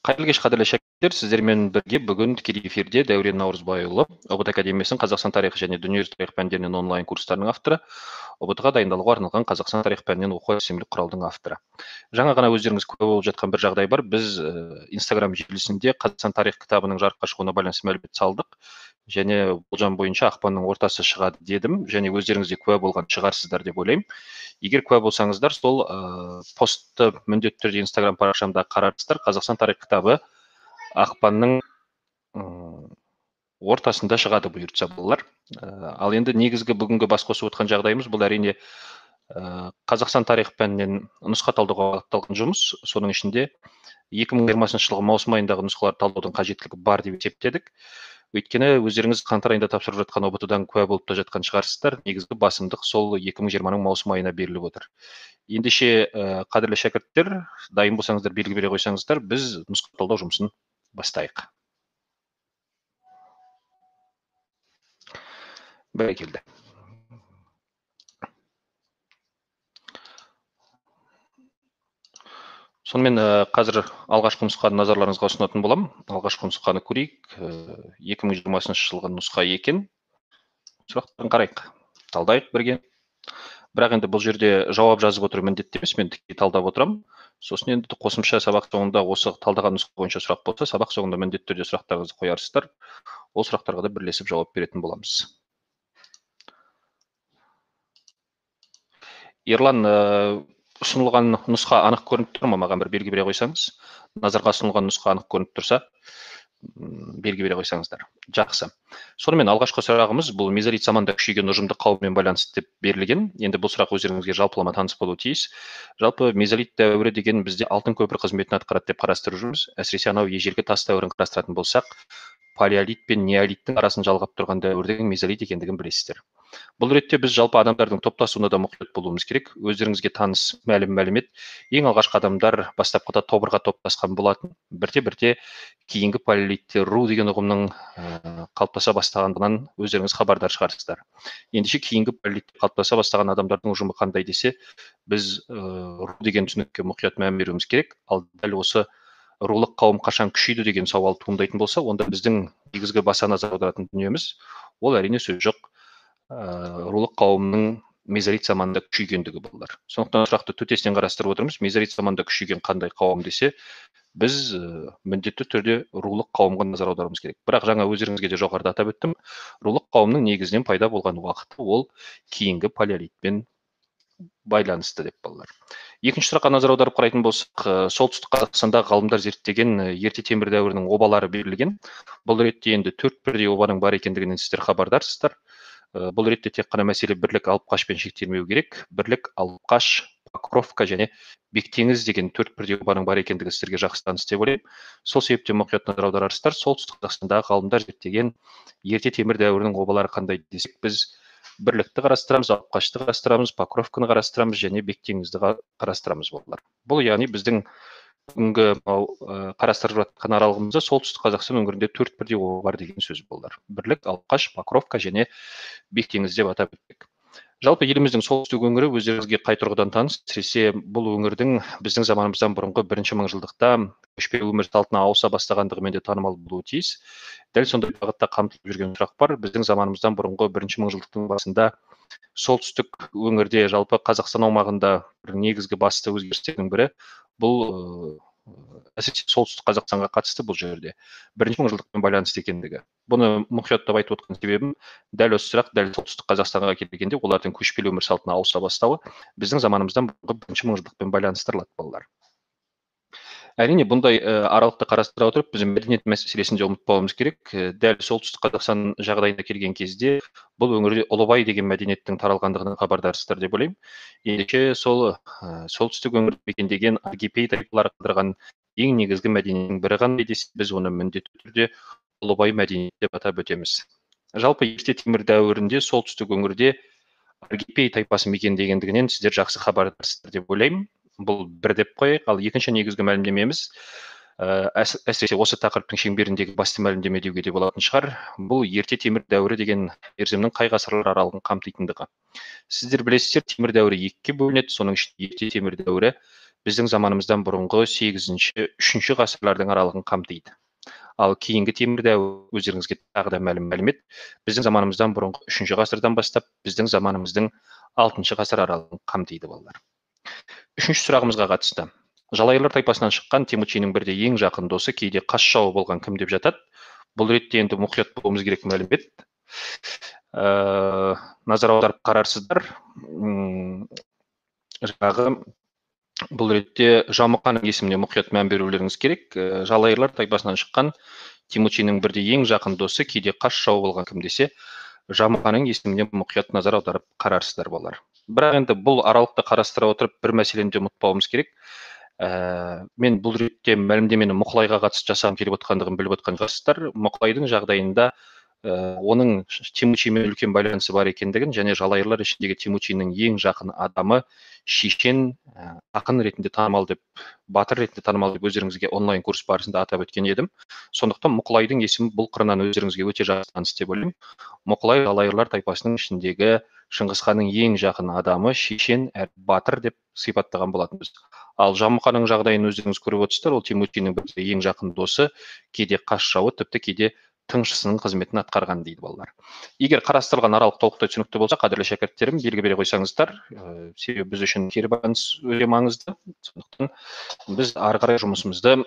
Қайырлы кеш, қадірлі шәкірттер, сіздермен бірге бүгін тікелей эфирде Дәурен Наурызбайұлы, ұбт академиясының Қазақстан тарихы және дүниежүзі тарих пәндерінен онлайн курстарының авторы, ұбт-ға дайындалуға арналған Қазақстан тарих пәнінен оқу әдістемелік құралдың авторы. Жаңа ғана өздеріңіз куә болып жатқан бір жағдай бар. Біз Инстаграм желісінде Қазақстан тарих кітабының жарыққа шығуына байланысты мәлімет салдық. Және болжам бойынша ақпанның ортасы шығады дедім, және өздеріңіз де куә болған шығарсыздар деп ойлаймын. Егер куә болсаңыздар, сол постты міндетті түрде Инстаграм парақшамда қарарсыздар. Қазақстан тарих кітабы ақпанның ортасында шығады бұйыртса болар. Ал енді негізгі бүгінгі бас қосып отқан жағдайымыз бұл әрине Қазақстан тарих пәнінен нұсқа талдауға бағытталған жұмыс. Соның ішінде 2020 жылғы маусым айындағы нұсқалар талдаудың қажеттілігі бар деп есептедік. Өйткені өздеріңіз қаңтар айында тапсырып жатқан ұбт-дан куә болып та жатқан шығарсыздар. Негізгі басымдық сол 2020-ның маусым айына беріліп отыр. Ендеше қадірлі шәкірттер, дайын болсаңыздар белгі бере қойсаңыздар, біз нұсқа талдау жұмысын бастайық. Бәрекелді. Сонымен қазір алғашқы нұсқаны назарларыңызға ұсынатын болам. Алғашқы нұсқаны көрейік. 2020 жылғы нұсқа екен. Сұрақтарын қарайық, талдайық бірге. Бірақ енді бұл жерде жауап жазып отыру міндетті емес, мен тіке талдап отырам. Сосын енді қосымша сабақ соңында осы талдаған нұсқа бойынша сұрақ болса, сабақ соңында міндетті түрде сұрақтарыңызды қоярсыздар. Ол сұрақтарға да бірлесіп жауап беретін боламыз. Ерлан, ұсынылған нұсқа анық көрініп тұр ма? Маған бір белгі бере қойсаңыз. Назарға ұсынылған нұсқа анық көрініп тұрса, белгі бере қойсаңыздар. Жақсы. Сонымен алғашқы сұрағымыз бұл мезолит заманда күшейген ұжымдық қауыммен байланысты деп берілген. Енді бұл сұрақ өздеріңізге жалпылама таныс болуы тиіс. Жалпы мезолит дәуірі деген бізде алтын көпір қызметін атқарады деп қарастырып жүрміз. Әсіресе анау ежелгі тас дәуірін қарастыратын болсақ, палеолит пен неолиттің арасын жалғап тұрған дәуірдің мезолит екендігін білесіздер. Бұл ретте біз жалпы адамдардың топтасуына да мұқият болуымыз керек. Өздеріңізге таныс мәлімет, ең алғашқы адамдар бастапқыда тобырға топтасқан болатын. Бірте-бірте кейінгі палеолитте ру деген ұғымның қалыптаса бастағандығынан өздеріңіз хабардар шығарсыздар. Ендеше кейінгі палеолитте қалыптаса бастаған адамдардың ұжымы қандай десе, біз ру деген түсінікке мұқият мән беруіміз керек. Ал дәл осы рулық қауым қашан күшейді деген сауал туындайтын болса, онда біздің негізгі баса назар аударатын дүниеміз ол әрине сөз жоқ рулық қауымның мезолит заманында күшейгендігі болар. Сондықтан сұрақты төтесінен қарастырып отырмыз. Мезолит заманында күшейген қандай қауым десе, біз міндетті түрде рулық қауымға назар аударуымыз керек. Бірақ жаңа өздеріңізге де жоғарыда атап өттім, рулық қауымның негізінен пайда болған уақыты ол кейінгі палеолитпен байланысты деп балалар. Екінші сұраққа назар аударып қарайтын болсақ, солтүстік Қазақстанда ғалымдар зерттеген ерте темір дәуірінің обалары берілген. Бұл ретте енді 4 бірдей обаның бар екендігінен сіздер хабардарсыздар. Бұл ретте тек қана мәселе бірлік Алыпқашпен шектелмеу керек. Бірлік, Алыпқаш, Покровка және Бектеңіз деген 4 бірдей обаның бар екендігі сіздерге жақсы таныс деп ойлаймын. Сол себептен мұқият назар аударарсыздар. Солтүстік Қазақстандағы ғалымдар зерттеген ерте темір дәуірінің обалары қандай десек, біз бірлікті қарастырамыз, Алыпқашты қарастырамыз, Покровканы қарастырамыз және Бектеңізді қарастырамыз болар. Бұл яғни біздің бүгінгі қарастырып жатқан аралығымызда солтүстік Қазақстан өңірінде 4 бірдей оба бар деген сөз болар. Бірлік, Алыпқаш, Покровка және Бектеңіз деп атап өттік. Жалпы еліміздің солтүстік өңірі өздеріңізге қай тұрғыдан таныс, әсіресе бұл өңірдің біздің заманымыздан бұрынғы 1-ші мыңжылдықта көшпелі өмір салтына ауыса бастағандығымен де танымал болуы тиіс. Дәл сондай бағытта қамтылып жүрген сұрақ бар. Біздің заманымыздан бұрынғы 1-ші мыңжылдықтың басында солтүстік өңірде жалпы Қазақстан аумағында бір негізгі басты өзгерістердің бірі бұл әсіресе солтүстік Қазақстанға қатысты бұл жерде 1-ші мыңжылдықпен байланысты екендігі. Бұны мұқияттап айтып отқан себебім, дәл осы сұрақ дәл солтүстік Қазақстанға келгенде олардың көшпелі өмір салтына ауыса бастауы біздің заманымыздан бұрынғы 1-ші мыңжылдықпен байланыстырылады балалар. Әрине, бұндай аралықты қарастыра отырып, біз мәдениет мәселесін де ұмытпауымыз керек. Дәл солтүстік Қазақстан жағдайына келген кезде бұл өңірде Ұлыбай деген мәдениеттің таралғандығынан хабардарсыздар деп ойлаймын. Ендеше сол солтүстік өңірді мекендеген аргипей тайпалары қалдырған ең негізгі мәдениеттің бірі қандай десе, біз оны міндетті түрде Ұлыбай мәдениеті деп атап өтеміз. Жалпы ерте темір дәуірінде солтүстік өңірде аргипей тайпасы мекендегендігінен сіздер жақсы хабардарсыздар деп ойлаймын. Бұл бір деп қояйық. Ал екінші негізгі мәлімдемеміз, әсіресе осы тақырыптың шеңберіндегі басты мәлімдеме деуге де болатын шығар, бұл ерте темір дәуірі деген мерзімнің қай ғасырлар аралығын қамтитындығы. Сіздер білесіздер, темір дәуірі екіге бөлінеді. Соның ішінде ерте темір дәуірі біздің заманымыздан бұрынғы 8-3 ғасырлардың аралығын қамтиды. Ал кейінгі темір дәуір өздеріңізге тағы да мәлім мәлімет, біздің заманымыздан бұрынғы 3 ғасырдан бастап біздің заманымыздың 6 ғасыр аралығын қамтиды балалар. 3 сұрағымызға қатысты. Жалайырлар тайпасынан шыққан Темучиннің бірде ең жақын досы, кейде қас жауы болған кім деп жатады? Бұл ретте енді мұқият болуымыз керек мәлімет. Назар аударып қарарсыздар. Жаңағы бұл ретте Жамұқаның есіміне мұқият мән берулеріңіз керек. Жалайырлар тайпасынан шыққан Темучиннің бірде ең жақын досы, кейде қас жауы болған кім десе, Жамұқаның есіміне мұқият назар аударып қарарсыздар болар. Бірақ енді бұл аралықты қарастыра отырып бір мәселені де ұмытпауымыз керек. Мен бұл ретте мәлімдемені Мұқылайға қатысты жасағым келіп отқандығын біліп отқан шығарсыздар. Мұқылайдың жағдайында оның Темучинмен үлкен байланысы бар екендігін және жалайырлар ішіндегі Темучиннің ең жақын адамы шешен, ақын ретінде танымал деп, батыр ретінде танымал деп өздеріңізге онлайн курс барысында атап өткен едім. Сондықтан Мұқылайдың есімі бұл қырынан өздеріңізге өте жақсы таныс деп ойлаймын. Мұқылай жалайырлар тайпасының ішіндегі Шыңғысханның ең жақын адамы, шешен әрі батыр деп сипаттаған болатынбыз. Ал Жамұқаның жағдайын өздеріңіз көріп отырсыздар, ол Темучиннің бірде ең жақын досы, кейде қас жауы, тіпті кейде тыңшысының қызметін атқарған дейді балалар. Егер қарастырылған аралық толықтай түсінікті болса, қадірлі шәкірттерім, белгі бере қойсаңыздар, себебі біз үшін кері байланыс өте маңызды. Сондықтан біз ары қарай жұмысымызды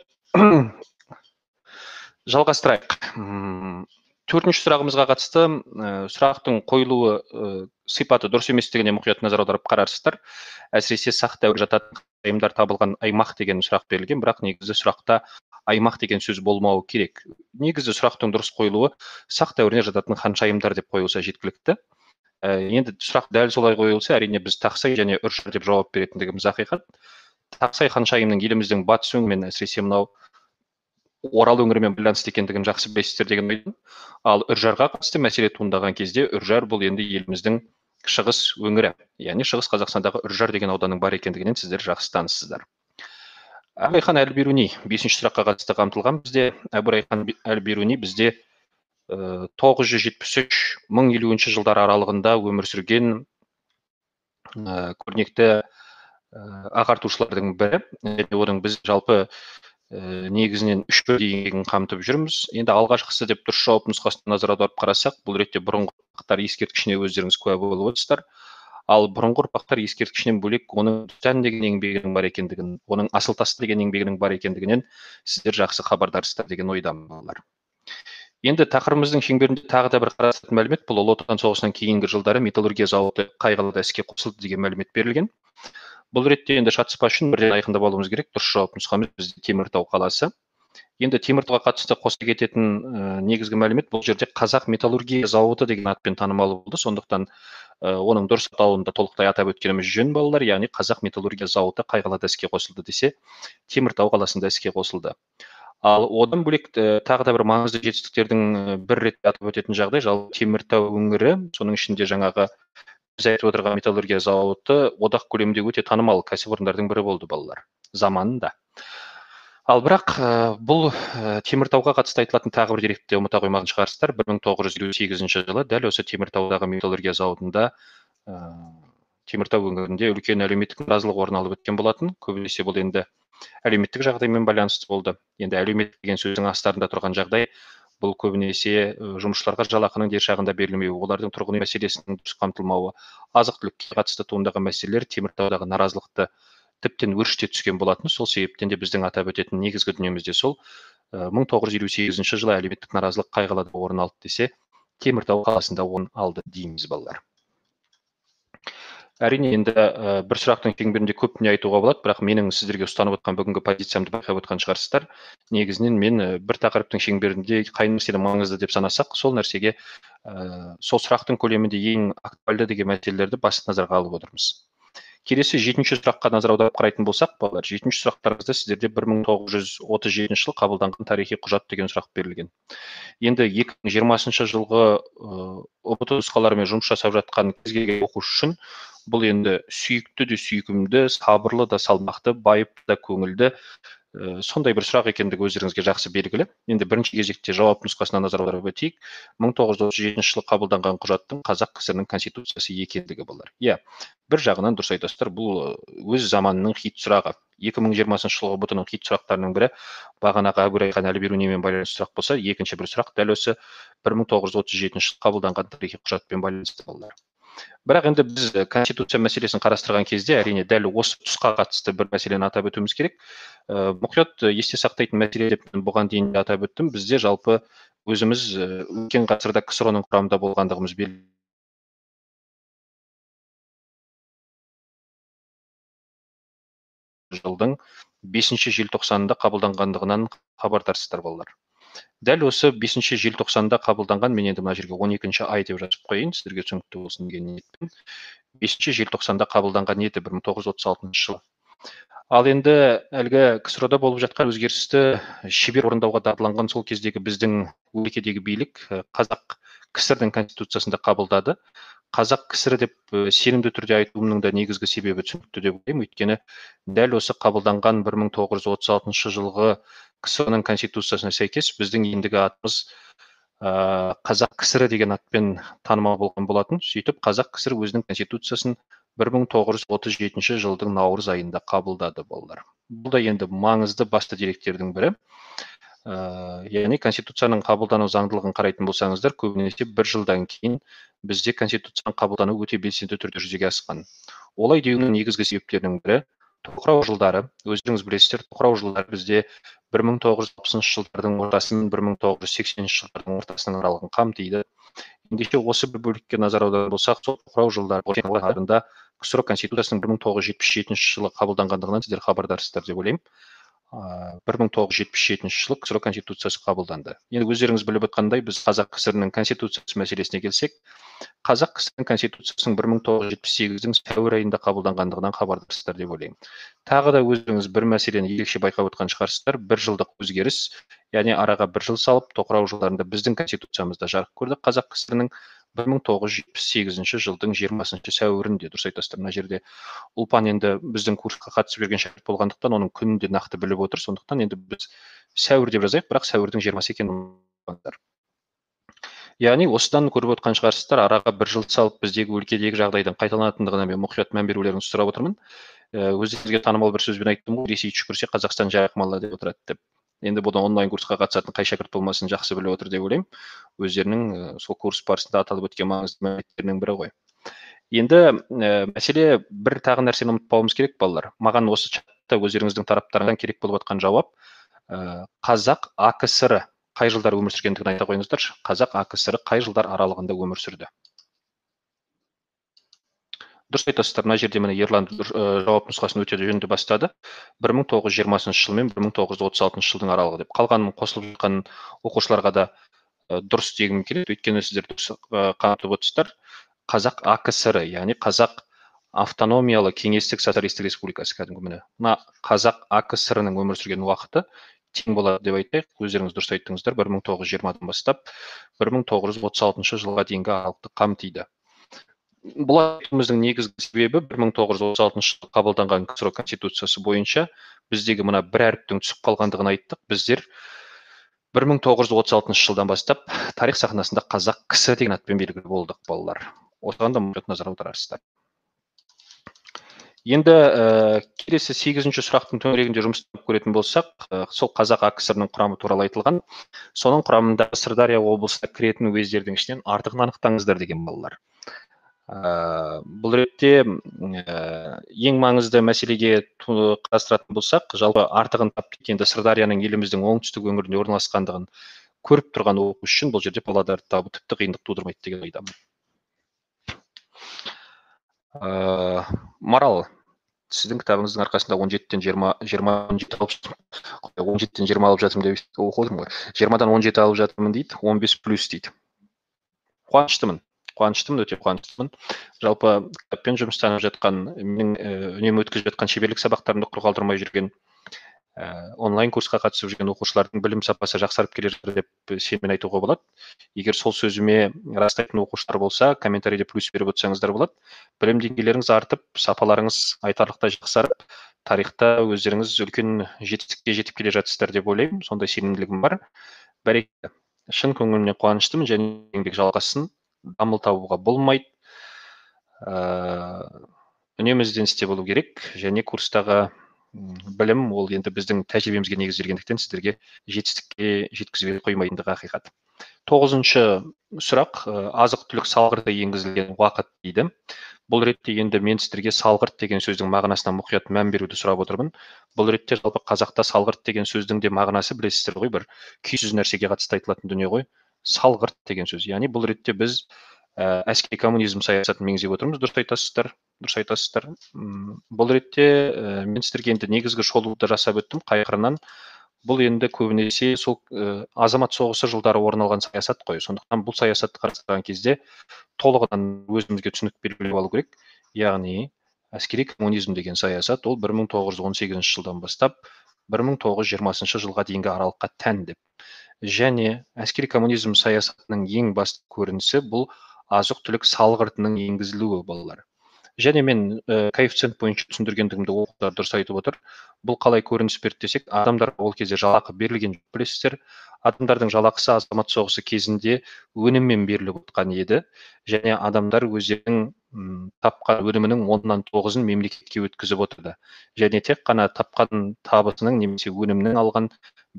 жалғастырайық. 4-ші сұрағымызға қатысты сұрақтың қойылуы сипаты дұрыс еместігіне мұқият назар аударып қарарсыздар. Әсіресе сақ дәуір жататын аймдар табылған аймақ деген сұрақ берілген, бірақ негізі сұрақта аймақ деген сөз болмауы керек. Негізі сұрақтың дұрыс қойылуы сақ дәуіріне жататын ханшайымдар деп қойылса жеткілікті. Енді сұрақ дәл солай қойылса, әрине біз Тақсай және Үржар деп жауап беретіндігіміз ақиқат. Тақсай ханшайымның еліміздің батыс өңірімен, әсіресе мынау Орал өңірімен байланысты екендігін жақсы білесіздер деген ойдым. Ал Үржарға қатысты мәселе туындаған кезде, Үржар бұл енді еліміздің шығыс өңірі, яғни шығыс Қазақстандағы Үржар деген ауданның бар екендігінен сіздер жақсы таныссыздар. Әбілайхан әл-Бируни 5-ші сұраққа қатысты қамтылған. Бізде Әбілайхан әл-Бируни бізде 973-1050 жылдар аралығында өмір сүрген көрнекті ағартушылардың бірі. Оның біз жалпы негізінен 3 еңбегін қамтып жүрміз. Енді алғашқысы деп дұрыс жауап нұсқасына назар аударып қарасақ, бұл ретте бұрынғы ұрпақтар ескерткішіне өздеріңіз куә болып отырсыздар. Ал бұрынғы ұрпақтар ескерткішінен бөлек оның Дүтән деген еңбегінің бар екендігін, оның Асылтасты деген еңбегінің бар екендігінен сіздер жақсы хабардарсыздар деген ойдамын балалар. Енді тақырыбымыздың шеңберінде тағы да бір қарастыратын мәлімет, бұл Ұлы Отан соғысынан кейінгі жылдары металлургия зауыты Қайғылыда іске қосылды деген мәлімет берілген. Бұл ретте енді шатыспас үшін бірден айқындап алуымыз керек. Дұрыс жауап нұсқамыз бізде Теміртау қаласы. Енді Теміртауға қатысты қоса кететін негізгі мәлімет, бұл жерде Қазақ металлургия зауыты деген атпен танымал болды. Сондықтан оның дұрыс атауын да толықтай атап өткеніміз жөн балалар, яғни Қазақ металлургия зауыты Қайғылыда іске қосылды десе, Теміртау қаласында іске қосылды. Ал одан бөлек тағы да бір маңызды жетістіктердің бір рет атап өтетін жағдай, жалпы Теміртау өңірі, соның ішінде жаңағы біз айтып отырған металлургия зауыты одақ көлемінде өте танымал кәсіпорындардың бірі болды балалар заманында. Ал бірақ бұл Теміртауға қатысты айтылатын тағы бір деректі ұмыта қоймаған шығарсыздар. 1958 жылы дәл осы Теміртаудағы металлургия зауытында Теміртау өңірінде үлкен әлеуметтік наразылық орын алып өткен болатын. Көбінесе бұл енді әлеуметтік жағдаймен байланысты болды. Енді әлеуметтік деген сөздің астарында тұрған жағдай бұл көбінесе жұмысшыларға жалақының дер шағында берілмеуі, олардың тұрғын үй мәселесінің дұрыс қамтылмауы, азық-түлікке қатысты туындаған мәселелер Теміртаудағы наразылықты тіптен өршіте түскен болатын. Сол себептен де біздің атап өтетін негізгі дүниемізде сол 1958 жылы әлеуметтік наразылық Қайғылыда орын алды десе, Теміртау қаласында орын алды дейміз балалар. Әрине енді бір сұрақтың шеңберінде көп не айтуға болады, бірақ менің сіздерге ұстанып отқан бүгінгі позициямды байқап отқан шығарсыздар. Негізінен мен бір тақырыптың шеңберінде қай нәрсе маңызды деп санасақ, сол нәрсеге сол сұрақтың көлемінде ең актуальды деген мәселелерді басты назарға алып отырмыз. Келесі 7-ші сұраққа назар аударып қарайтын болсақ, балалар, 7-ші сұрақтарыңызда сіздерде 1937 жылы қабылданған тарихи құжат деген сұрақ берілген. Енді 2020 жылғы ұбт нұсқаларымен жұмыс жасап жатқан кез келген оқушы үшін бұл енді сүйікті де сүйкімді, сабырлы да салмақты, байыпты да көңілді сондай бір сұрақ екендігі өздеріңізге жақсы белгілі. Енді бірінші кезекте жауап нұсқасына назар аударып өтейік. 1937 жылы қабылданған құжаттың Қазақ КСР-ның конституциясы екендігі болар. Иә, бір жағынан дұрыс айтасыздар, бұл өз заманының хит сұрағы. 2020 жылғы бұтының кит сұрақтарының бірі бағанағы әбу райхан әлі беру немен байланысты сұрақ болса, екінші бір сұрақ дәл осы 1937 жылы қабылданған тарихи құжатпен байланысты болды. Бірақ енді біз конституция мәселесін қарастырған кезде әрине дәл осы тұсқа қатысты бір мәселені атап өтуіміз керек. Мұқият есте сақтайтын мәселе деп бұған дейін де атап өттім. Бізде жалпы өзіміз өткен ғасырда КСРО-ның құрамында болғандығымыз белгілі. Жылдың 5 желтоқсанында қабылданғандығынан хабардарсыздар балалар. Дәл осы 5 желтоқсанда қабылданған, мен енді мына жерге 12 ай деп жазып қойын, сіздерге түсінікті болсын деген ниетпен. 5 желтоқсанда қабылданған еді 1936 жылы. Ал енді әлгі КСРО-да болып жатқан өзгерісті шебер орындауға дағдыланған сол кездегі біздің өлкедегі билік қазақ КСР-дің конституциясында қабылдады. Қазақ КСР деп сенімді түрде айтуымның да негізгі себебі түсінікті деп ойлаймын. Өйткені дәл осы қабылданған 1936 жылғы КСР-ның конституциясына сәйкес біздің ендігі атымыз Қазақ КСР деген атпен танымал болған болатын. Сөйтіп Қазақ КСР өзінің конституциясын 1937 жылдың наурыз айында қабылдады балалар. Бұл да енді маңызды басты деректердің бірі. Яғни конституцияның қабылдану заңдылығын қарайтын болсаңыздар, көбінесе бір жылдан кейін бізде конституцияның қабылдану өте белсенді түрде жүзеге асқан. Олай деуінің негізгі себептерінің бірі тоқырау жылдары. Өздеріңіз білесіздер, тоқырау жылдары бізде 1960 жылдардың ортасын 1980 жылдардың ортасының аралығын қамтиды. Ендеше осы бір бөлікке назар аударар болсақ, сол тоқырау жылдарында КСР конституциясының 1977 жылы қабылданғандығынан сіздер хабардарсыздар деп ойлаймын. 1977 жылы КСР конституциясы қабылданды. Енді өздеріңіз біліп отқандай, біз Қазақ КСР-ның конституциясы мәселесіне келсек, Қазақ КСР-ның конституциясының 1978-дің сәуір айында қабылданғандығынан хабардарсыздар деп ойлаймын. Тағы да өздеріңіз бір мәселені ерекше байқап отқан шығарсыздар, бір жылдық өзгеріс, яғни араға бір жыл салып, тоқырау жылдарында біздің конституциямызда жарық көрді. Қазақ КСР-ның 1978 жылдың 20 сәуірінде, дұрыс айтасыздар, мына жерде Ұлпан енді біздің курсқа қатысып жүрген шәкірт болғандықтан оның күнін де нақты біліп отыр. Сондықтан енді біз сәуір деп жазайық, бірақ сәуірдің 20 екенін ұмытпаңдар. Яғни осыдан көріп отқан шығарсыздар, араға бір жыл салып біздегі өлкедегі жағдайдың қайталанатындығына мен мұқият мән берулеріңізді сұрап отырмын. Өздеріңізге танымал бір сөзбен айттым ғой, Ресей түшкірсе Қазақстан жайықмалы деп отырады деп. Енді бұны онлайн курсқа қатысатын қай шәкірт болмасын жақсы біліп отыр деп ойлаймын. Өздерінің сол курс барысында аталып өткен маңызды мәліметтерінің бірі ғой. Енді мәселе бір тағы нәрсені ұмытпауымыз керек балалар. Маған осы чатта өздеріңіздің тараптарыңыздан керек болып жатқан жауап Қазақ АКСР қай жылдар өмір сүргендігін айта қойыңыздаршы. Қазақ АКСР қай жылдар аралығында өмір сүрді? Дұрыс айтасыздар, мына жерде міне Ерлан жауап нұсқасын өте жөнді бастады. 1920 жыл мен 1936 жылдың аралығы деп. Қалғанын қосылып жатқан оқушыларға да дұрыс дегім келеді. Өйткені сіздер дұрыс қамтып отырсыздар. Қазақ АКСР, яғни Қазақ автономиялы кеңестік социалистік республикасы кәдімгі міне. Мына Қазақ АКСР-ның өмір сүрген уақыты тең болады деп айтайық. Өздеріңіз дұрыс айттыңыздар, 1920-дан бастап 1936 жылға дейінгі аралықты қамтиды. Бұл айтуымыздың негізгі себебі 1936 жылы қабылданған КСР конституциясы бойынша біздегі мына бір әріптің түсіп қалғандығын айттық. Біздер 1936 жылдан бастап тарих сахнасында Қазақ КСР деген атпен белгілі болдық балалар. Осыған да мұқият назар аударарсыздар. Енді келесі 8-ші сұрақтың төңірегінде жұмыс істеп көретін болсақ, сол Қазақ АКСР-ның құрамы туралы айтылған. Соның құрамында Сырдария облысына кіретін уездердің ішінен артығын анықтаңыздар деген балалар. Бұл ретте ең маңызды мәселеге қарастыратын болсақ, жалпы артығын тапты енді Сырдарияның еліміздің оңтүстік өңірінде орналасқандығын көріп тұрған оқушы үшін бұл жерде Павлодарды табу тіпті қиындық тудырмайды деген ойдамын. Марал, сіздің кітабыңыздың арқасында 17-тен 20 алып жатырмын деп оқып отырмын ғой. 20-дан 17 алып жатырмын дейді, 15+ дейді. Қуаныштымын, өте қуаныштымын. Жалпы кітаппен жұмыстанып жатқан, менің үнемі өткізіп жатқан шеберлік сабақтарымды құр қалдырмай жүрген, онлайн курсқа қатысып жүрген оқушылардың білім сапасы жақсарып келе жатыр деп сеніммен айтуға болады. Егер сол сөзіме растайтын оқушылар болса, комментарийде плюс беріп отырсаңыздар болады. Білім деңгейлеріңіз артып, сапаларыңыз айтарлықтай жақсарып, тарихта өздеріңіз үлкен жетістікке жетіп келе жатсыздар деп ойлаймын. Сондай сенімділігім бар. Бәрекелді. Шын көңілімнен қуаныштымын, және еңбек жалғасын, дамыл табуға болмайды. Үнемі ізденісте болу керек, және курстағы білім ол енді біздің тәжірибемізге негізделгендіктен сіздерге жетістікке жеткізбей қоймайтындығы ақиқат. 9-шы сұрақ, азық түлік салғырты енгізілген уақыт дейді. Бұл ретте енді мен сіздерге салғырт деген сөздің мағынасына мұқият мән беруді сұрап отырмын. Бұл ретте жалпы қазақта салғырт деген сөздің де мағынасы білесіздер ғой, бір күйсіз нәрсеге қатысты айтылатын дүние ғой. Салғырт деген сөз. Яғни бұл ретте біз әскери коммунизм саясатын меңзеп отырмыз. Дұрыс айтасыздар. Бұл ретте мен сіздерге енді негізгі шолуды жасап өттім қай қырынан. Бұл енді көбінесе сол азамат соғысы жылдары орын алған саясат қой. Сондықтан бұл саясатты қарастырған кезде толығынан өзімізге түсінік белгілеп алу керек. Яғни әскери коммунизм деген саясат ол 1918 жылдан бастап 1920 жылға дейінгі аралыққа тән деп. Және әскери коммунизм саясатының ең басты көрінісі бұл азық-түлік салғыртының енгізілуі, балалар. Және мен коэффициент бойынша түсіндіргендігімді оқушылар дұрыс айтып отыр. Бұл қалай көрініс берді десек, адамдар ол кезде жалақы берілген, білесіздер. Адамдардың жалақысы азамат соғысы кезінде өніммен беріліп отқан еді. Және адамдар өздерінің тапқан өнімінің 9-ын мемлекетке өткізіп отырды. Және тек қана тапқан табысының немесе өнімнің алған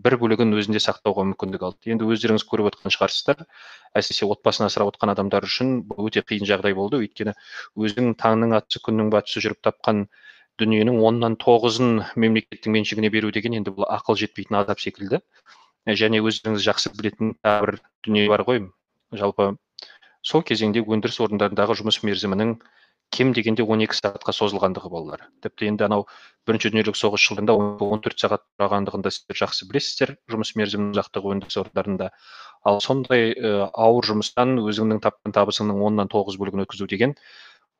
бір бөлігін өзінде сақтауға мүмкіндік алды. Енді өздеріңіз көріп отқан шығарсыздар, әсіресе отбасын асырап отқан адамдар үшін бұл өте қиын жағдай болды. Өйткені өзінің таңның атысы күннің батысы жүріп тапқан дүниенің 9-ын мемлекеттің меншігіне беру деген енді бұл ақыл жетпейтін азап секілді. Және өздеріңіз жақсы білетін бір дүние бар ғой. Жалпы сол кезеңде өндіріс орындарындағы жұмыс мерзімінің кем дегенде 12 сағатқа созылғандығы балалар. Тіпті енді анау бірінші дүниежүзілік соғыс жылдарында 14 сағат тұрғандығында сіздер жақсы білесіздер жұмыс мерзімінің ұзақтығы өндіріс орындарында. Ал сондай ауыр жұмыстан өзіңнің тапқан табысыңның 9 бөлігін өткізу деген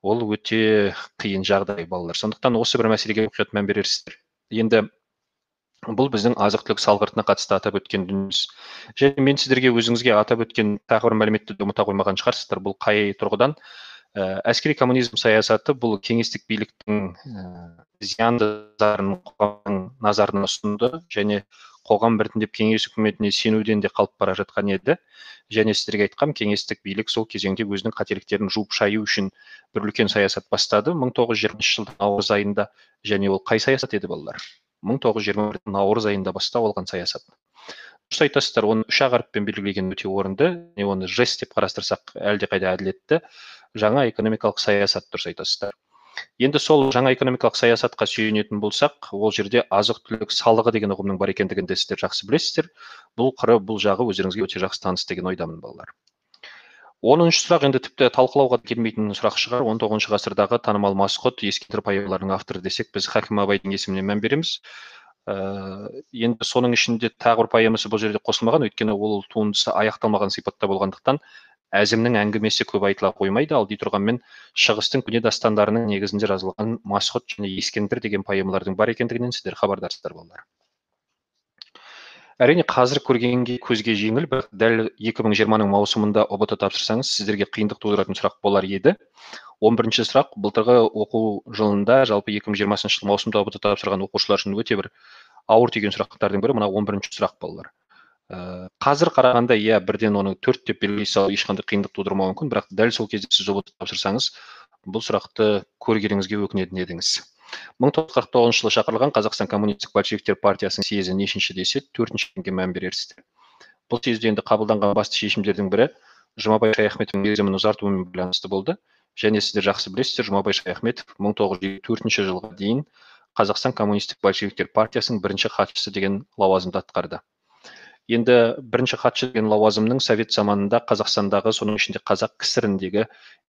ол өте қиын жағдай, балалар. Сондықтан осы бір мәселеге мұқият мән берерсіздер. Енді бұл біздің азық-түлік салғыртына қатысты атап өткен дүниеміз. Және мен сіздерге өзіңізге атап өткен тағы бір мәліметті ұмыта қоймаған шығарсыздар. Бұл қай тұрғыдан? Әскери коммунизм саясаты бұл кеңестік биліктің зиянды зарын қоғамның назарына ұсынды және қоғам біртіндеп кеңес үкіметіне сенуден де қалып бара жатқан еді. Және сіздерге айтқам, кеңестік билік сол кезеңде өзінің қателіктерін жуып шаю үшін бір үлкен саясат бастады 1920 жылдың наурыз айында. Және ол қай саясат еді, балалар? 1921 наурыз айында бастау алған саясат. Дұрыс айтасыздар, оны 3 harfпен белгілеген өте орынды, оны жест деп қарастырсақ әлдеқайда әділетті. Жаңа экономикалық саясат, дұрыс айтасыздар. Енді сол жаңа экономикалық саясатқа сүйенетін болсақ, ол жерде азық-түлік салығы деген ұғымның бар екендігін де сіздер жақсы білесіздер. Бұл қыры, бұл жағы өздеріңізге өте жақсы таныс деген ойдамын, балалар. 10-шы сұрақ енді тіпті талқылауға келмейтін сұрақ шығар. 19 ғасырдағы танымал масқұт ескендір поэмаларының авторы десек, біз Хакім Абайдың есіміне мән береміз. Енді соның ішінде тағы бір поэмасы бұл жерде қосылмаған, өйткені ол туындысы аяқталмаған сипатта болғандықтан әзімнің әңгімесі көп айтыла қоймайды. Ал дей тұрғанмен шығыстың көне дастандарының негізінде жазылған масқұт және ескендір деген поэмалардың бар екендігінен сіздер хабардарсыздар, балалар. Әрине қазір көргенге көзге жеңіл, бірақ дәл 2020-ның маусымында ұбт тапсырсаңыз сіздерге қиындық тудыратын сұрақ болар еді. 11-ші сұрақ, былтырғы оқу жылында жалпы 2020 жыл маусымда ұбт тапсырған оқушылар үшін өте бір ауыр тиген сұрақтардың бірі мына 11-ші сұрақ, балалар. Қазір қарағанда бірден оны 4 деп белгілей салу ешқандай қиындық тудырмауы мүмкін, бірақ дәл сол кезде сіз ұбт тапсырсаңыз бұл сұрақты көргеніңізге өкінетін едіңіз. 1949 жылы шақырылған Қазақстан коммунистік большевиктер партиясының съезі нешінші десе 4-шіге мән берерсіздер. Бұл съезде енді қабылданған басты шешімдердің бірі Жұмабай Шаяхметовтің мерзімін ұзартуымен байланысты болды. Және сіздер жақсы білесіздер, Жұмабай Шаяхметов 1954 жылға дейін Қазақстан коммунистік большевиктер партиясының бірінші хатшысы деген лауазымды атқарды. Енді бірінші хатшы деген лауазымның совет заманында Қазақстандағы, соның ішінде Қазақ КСР-індегі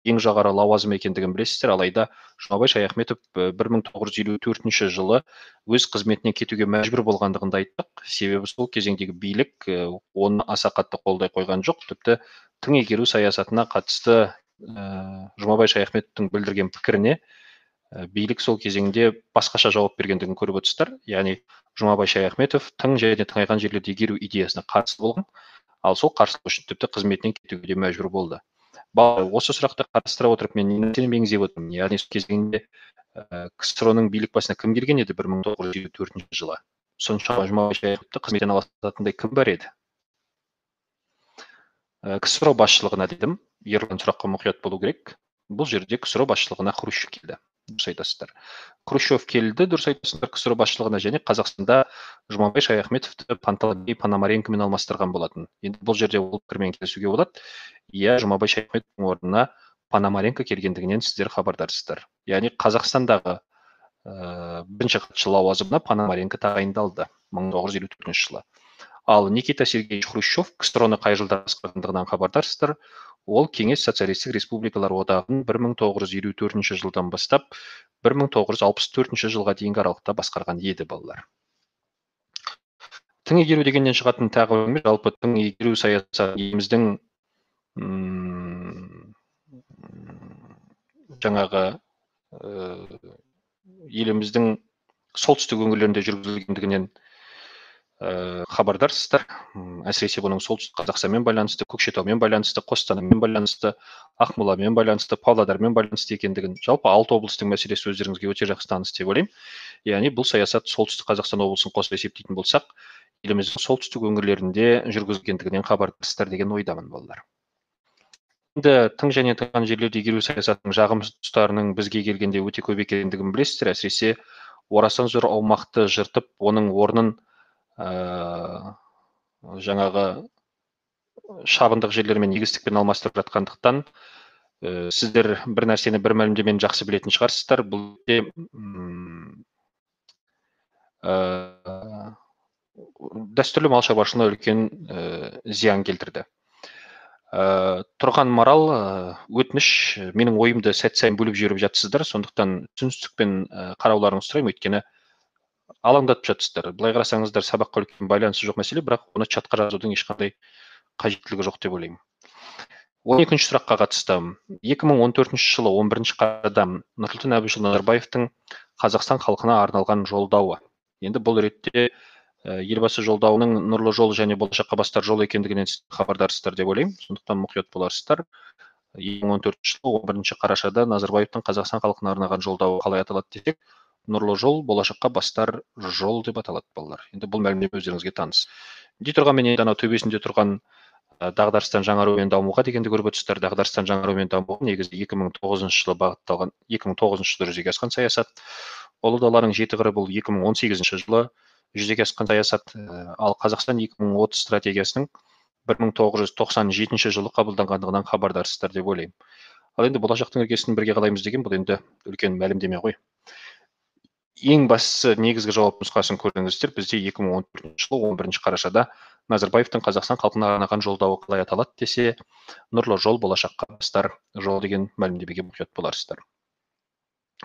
ең жоғары лауазым екендігін білесіздер. Алайда Жұмабай Шаяхметов 1954 жылы өз қызметінен кетуге мәжбүр болғандығын айттық. Себебі сол кезеңдегі билік оны аса қатты қолдай қойған жоқ. Тіпті тың игеру саясатына қатысты Жұмабай Шаяхметовтың білдірген пікіріне билік сол кезеңде басқаша жауап бергендігін көріп отырсыздар. Яғни Жұмабай Шаяхметов тың және тыңайған жерлерді игеру идеясына қарсы болған, ал сол қарсылық үшін тіпті қызметінен кетуге мәжбүр болды. Осы сұрақты қарастыра отырып мен нені меңзеп отырмын? Яғни сол кезеңде КСР-ның билік басына кім келген еді 1954 жылы? Соншама Жұмабай Шаяхметовті қызметтен аластататындай кім бар еді? КСР басшылығына дедім, ерлан сұраққа мұқият болу керек. Бұл жерде КСР басшылығына Хрущев келді. дұрыс айтасыздар. Хрущев келді, дұрыс айтасыздар, КСР басшылығына, және Қазақстанда Жұмабай Шаяхметовті Пантелей Пономаренкомен алмастырған болатын. Енді бұл жерде ол пікірмен келісуге болады. Иә, Жұмабай Шаяхметовтің орнына Пономаренко келгендігінен сіздер хабардарсыздар. Яғни Қазақстандағы бірінші хатшы лауазымына Пономаренко тағайындалды 1954 жылы. Ал Никита Сергеевич Хрущев КСР-ны қай жылда басқарғандығынан хабардарсыздар. Ол Кеңес Социалистік Республикалар одағын 1954 жылдан бастап 1964 жылға дейінгі аралықта басқарған еді, балалар. Тың игеру дегеннен шығатын тағы бір, жалпы тың игеру саясаты еліміздің жаңағы еліміздің солтүстік өңірлерінде жүргізілгендігінен хабардарсыздар. Әсіресе бұның солтүстік Қазақстанмен байланысты, Көкшетаумен байланысты, Қостанаймен байланысты, Ақмоламен байланысты, Павлодармен байланысты екендігін, жалпы 6 облыстың мәселесі өздеріңізге өте жақсы таныс деп ойлаймын. Яғни бұл саясат солтүстік Қазақстан облысын қосып есептейтін болсақ, еліміздің солтүстік өңірлерінде жүргізілгендігінен хабардарсыздар деген ойдамын, балалар. Енді тың және тыңған жерлерде игеру саясатының жағымсыз тұстарының бізге келгенде өте көп екендігін білесіздер. Әсіресе орасан зор аумақты жыртып, оның орнын жаңағы шабындық жерлермен егістікпен алмастырып жатқандықтан, сіздер бір нәрсені бір мәлімдемені жақсы білетін шығарсыздар. Бұл дәстүрлі мал шаруашылығына үлкен зиян келтірді. Тұрған Марал, өтініш, менің ойымды сәт сайын бөліп жіберіп жатсыздар, сондықтан түсіністікпен қарауларыңызды сұраймын, өйткені алаңдатып жатсыздар. Былай қарасаңыздар, сабаққа үлкен байланысы жоқ мәселе, бірақ оны чатқа жазудың ешқандай қажеттілігі жоқ деп ойлаймын. 12-ші сұраққа қатысты. 2014 жылы 11 қарашада Нұрсұлтан Әбішұлы Назарбаевтың Қазақстан халқына арналған жолдауы. Енді бұл ретте елбасы жолдауының нұрлы жол және болашаққа бастар жол екендігінен хабардарсыздар деп ойлаймын. Сондықтан мұқият боларсыздар. 2014 жылы 11 қарашада Назарбаевтың Қазақстан халқына арналған жолдауы қалай аталады десек, нұрлы жол, болашаққа бастар жол деп аталады, балалар. Енді бұл мәлімдеме өздеріңізге таныс. Дей тұрған мен енді төбесінде тұрған дағдарыстан жаңарумен дамуға дегенді көріп отырсыздар. Дағдарыстан жаңарумен дамуға негізі 2009 жылы бағытталған, 2009 жылы жүзеге асқан саясат. Ұлы даланың 7 қыры бұл 2018 жылы жүзеге асқан саясат. Ал Қазақстан 2030 стратегиясының 1997 жылы қабылданғандығынан хабардарсыздар деп ойлаймын. Ал енді болашақтың іргесін бірге қалаймыз деген, бұл енді үлкен мәлімдеме ғой. Ең бастысы негізгі жауап нұсқасын көрдіңіздер. Бізде 2014 жылы 11 қарашада Назарбаевтың Қазақстан халқына арнаған жолдауы қалай аталады десе, нұрлы жол, болашаққа бастар жол деген мәлімдемеге мұқият боларсыздар.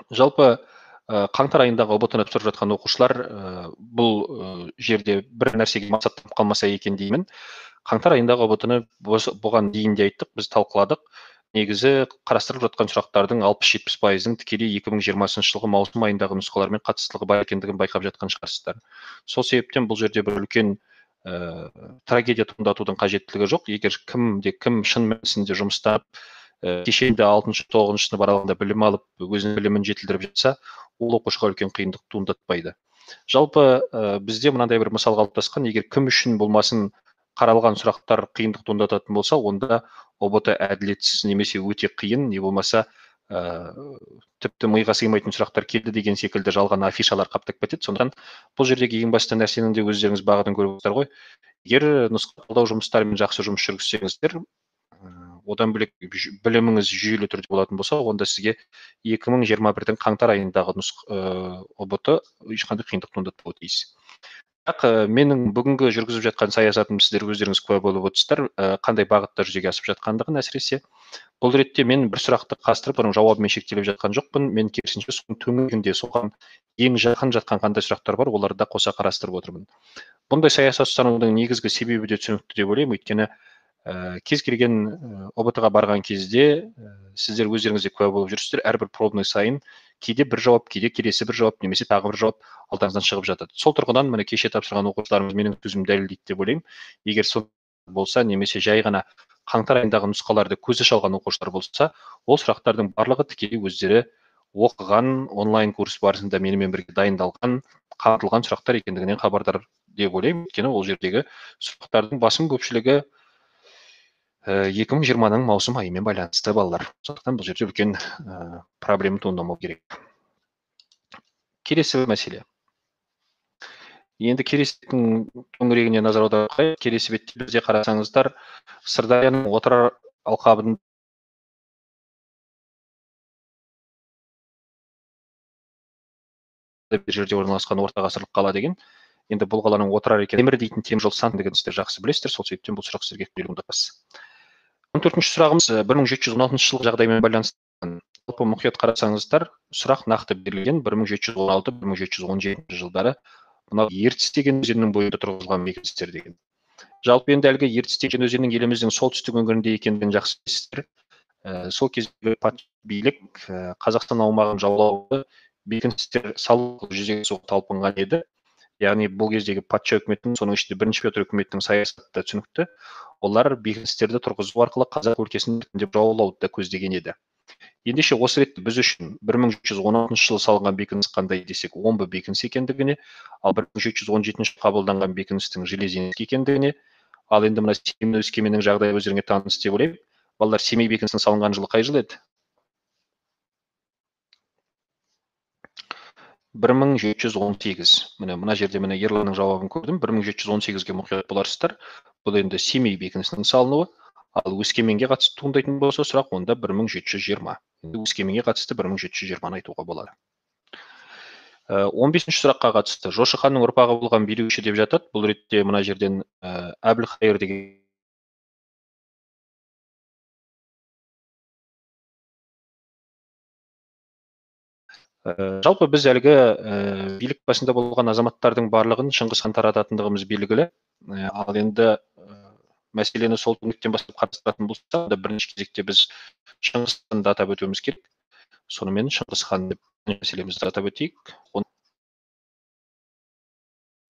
Жалпы қаңтар айындағы ұбт-ны тапсырып жатқан оқушылар бұл жерде бір нәрсеге мақсаттанып қалмаса екен деймін. Қаңтар айындағы ұбт-ны бұған дейін де айттық, біз талқыладық. Негізі қарастырылып жатқан сұрақтардың 60-70%-ның тікелей 2020 жылғы маусым айындағы нұсқалармен қатыстылығы бар екендігін байқап жатқан шығарсыздар. Сол себептен бұл жерде бір үлкен трагедия туындатудың қажеттілігі жоқ. Егер кім шын мәнісінде жұмыстап, кешенді 6-9 сынып аралығында білім алып, өзінің білімін жетілдіріп жатса, ол оқушыға үлкен қиындық туындатпайды. Жалпы бізде мынандай бір мысал қалыптасқан, егер кім үшін болмасын қаралған сұрақтар қиындық туындататын болса, онда ұбт әділетсіз немесе өте қиын, не болмаса тіпті миға сыймайтын сұрақтар келді деген секілді жалған афишалар қаптап кетеді. Сондықтан бұл жердегі ең басты нәрсенің де өздеріңіз бағытын көріп отырсыздар ғой. Егер нұсқалау жұмыстарымен жақсы жұмыс жүргізсеңіздер, одан бөлек біліміңіз жүйелі түрде болатын болса, онда сізге 2021-дің қаңтар айындағы ұбт ешқандай қиындық туындатпауы тиіс. Бірақ менің бүгінгі жүргізіп жатқан саясатым сіздер өздеріңіз куә болып отырсыздар, қандай бағытта жүзеге асып жатқандығын. Әсіресе бұл ретте мен бір сұрақты қастырып, оның жауабымен шектеліп жатқан жоқпын. Мен керісінше соның төңірегінде соған ең жақын жатқан қандай сұрақтар бар, оларды да қоса қарастырып отырмын. Бұндай саясат ұстанудың негізгі себебі де түсінікті деп ойлаймын, өйткені кез келген ұбт-ға барған кезде сіздер өздеріңізде куә болып жүрсіздер, әрбір пробный сайын кейде бір жауап, кейде келесі бір жауап, немесе тағы бір жауап алдарыңыздан шығып жатады. Сол тұрғыдан міне кеше тапсырған оқушыларымыз менің сөзімді дәлелдейді деп ойлаймын. Егер сол болса, немесе жай ғана қаңтар айындағы нұсқаларды көзі шалған оқушылар болса, ол сұрақтардың барлығы тікелей өздері оқыған онлайн курс барысында менімен бірге дайындалған, қамтылған сұрақтар екендігінен хабардар деп ойлаймын. Өйткені ол жердегі сұрақтардың басым көпшілігі 2020-ның маусым айымен байланысты, балалар. Сондықтан бұл жерде үлкен проблема туындамау керек. келесі бір мәселе. Енді Кересеттің төңірегіне назар аударайық. Келесі бетте бізде қарасаңыздар, Сырдарияның отырар алқабын бір жерде орналасқан орта ғасырлық қала деген. Енді бұл қаланың отырар екен темір дейтін темір жол сан деген сіздер жақсы білесіздер, сол себептен бұл сұрақ сіздерге туындатпас. 14-ші сұрағымыз 1716 жылғы жағдаймен байланысты. Жалпы мұқият қарасаңыздар, сұрақ нақты берілген 1716-1717 жылдары мынау Ертіс деген өзеннің бойында тұрғызылған бекіністер деген. Жалпы енді әлгі Ертіс деген өзеннің еліміздің солтүстік өңірінде екендігін жақсы білесіздер. Сол кездегі патша билік Қазақстан аумағын жаулауды бекіністер салу жүзеге асыруға талпынған еді. Яғни бұл кездегі патша үкіметінің, соның ішінде бірінші Петр үкіметінің саясаты да түсінікті. Олар бекіністерді тұрғызу арқылы қазақ өлкесін біртіндеп жаулауды да көздеген еді. Ендеше осы ретте біз үшін 1716 жылы салынған бекініс қандай десек, омбы бекінісі екендігіне, ал 1717 қабылданған бекіністің Железинский екендігіне, ал енді мына Семей Өскеменнің жағдайы өздеріңе таныс деп ойлаймын. Балалар, Семей бекінісінің салынған жылы қай жыл еді? 1718. Мына жерде Ерланның жауабын көрдім. 1718-ге мұқият боларсыздар. Бұл енді Семей бекінісінің салынуы, ал Өскеменге қатысты туындайтын болса сұрақ, онда 1720. Өскеменге қатысты 1720-ны айтуға болады. 15-ші сұраққа қатысты. Жошы ханның ұрпағы болған билеуші деп жатады. Бұл ретте мына жерден Әбілқайыр деген жалпы біз әлгі билік басында болған азаматтардың барлығын Шыңғыс хан тарататындығымыз белгілі. Ал енді мәселені сол түңліктен бастап қарастыратын болсақ, бірінші кезекте біз Шыңғыс ханды атап өтуіміз керек. Сонымен Шыңғыс хан деп мәселемізді атап өтейік.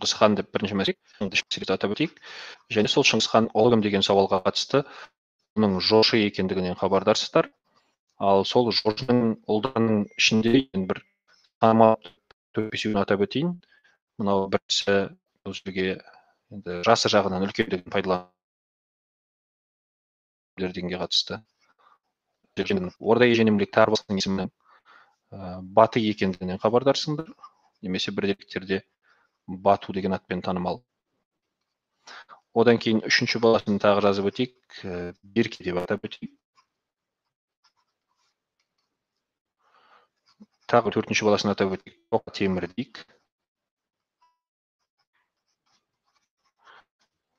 Шыңғыс хан деп бірінші мәселемізді атап өтейік. Және сол Шыңғыс хан ұлы кім деген сауалға қатысты оның жошы екендігінен хабардарсыздар. Ал сол жошының ұлдарының ішінде бір танымал төрт-бесеуін атап өтейін. Мынау бірінші өзге жасы жағынан үлкендігін пайдаланып дегенге қатысты. Орда еженемлік Тарбасының есімінің Баты екендігінен хабардарсыңдар. Немесе бір деректерде Бату деген атпен танымал. Одан кейін үшінші баласын тағы жазып өтейік. Берке деп атап өтейік. Тағы төртінші баласын атап өтейік. Тоқа темір дейік.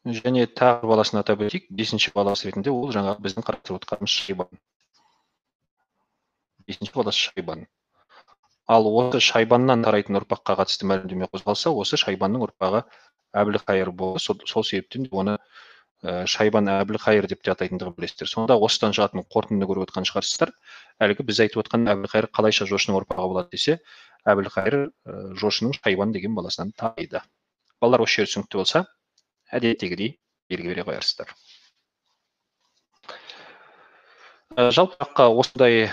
Және тағы баласын атап өтейік. Бесінші баласы ретінде ол жаңа біздің қарастырып отырғанымыз Шайбан. Бесінші баласы Шайбан. Ал осы Шайбаннан тарайтын ұрпаққа қатысты мәлімдеме қозғалса, осы Шайбанның ұрпағы Әбілқайыр болды. Сол себептен оны Шайбан Әбілқайыр деп те атайтындығын білесіздер. Сонда осыдан шығатын қорытындыны көріп отқан шығарсыздар. Әлгі біз айтып отқан Әбілқайыр қалайша жошының ұрпағы болады десе, Әбілқайыр жошының Шайбан деген баласынан тариды. Балалар, осы жер түсінікті болса, әдеттегідей белгі бере қоярсыздар. Жалпы осындай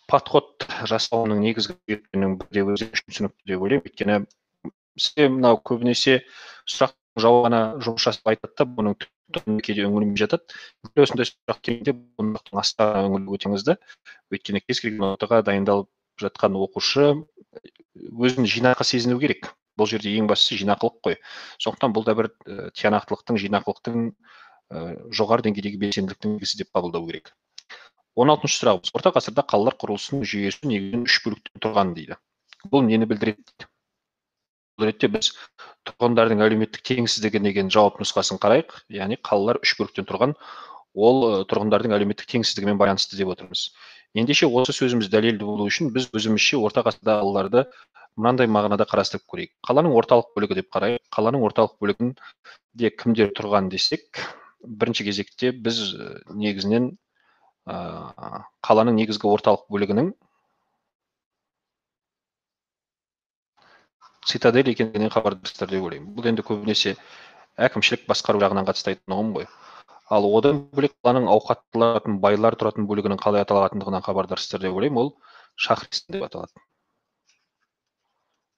подход жасауының негізгі себебінің бірде өзі үшін түсінікті деп ойлаймын. Өйткені сізде мынау көбінесе сұрақ жауабына жұмыс жасап айтады, бұның түптің кейде өңілмей жатады. Осындай сұрақ келгенде бұның астына өңіліп өтеңізді. Өйткені кез келген ортаға дайындалып жатқан оқушы өзін жинақы сезіну керек. Бұл жерде ең бастысы жинақылық қой. Сондықтан бұл да бір тиянақтылықтың, жинақылықтың жоғары деңгейдегі белсенділіктің белгісі деп қабылдау керек. 16-шы сұрағымыз. Орта ғасырда қалалар құрылысының жүйесі негізінен 3 бөліктен тұрған дейді. Бұл нені білдіреді? Бұл ретте біз тұрғындардың әлеуметтік теңсіздігі деген жауап нұсқасын қарайық. Яғни қалалар 3 бөліктен тұрған, ол тұрғындардың әлеуметтік теңсіздігімен байланысты деп отырмыз. Ендеше осы сөзіміз дәлелді болу үшін біз өзімізше орта ғасырда қалаларды мынандай мағынада қарастырып көрейік. Қаланың орталық бөлігі деп қарайық. Қаланың орталық бөлігінде кімдер тұрған десек, бірінші кезекте біз негізінен қаланың негізгі орталық бөлігінің цитадель екендігінен хабардарсыздар деп ойлаймын. Бұл енді көбінесе әкімшілік басқару жағынан қатысты айтатын ұғым ғой. Ал одан бөлек қаланың ауқаттылар байлар тұратын бөлігінің қалай аталатындығынан хабардарсыздар деп ойлаймын. Ол Шахристан деп аталады.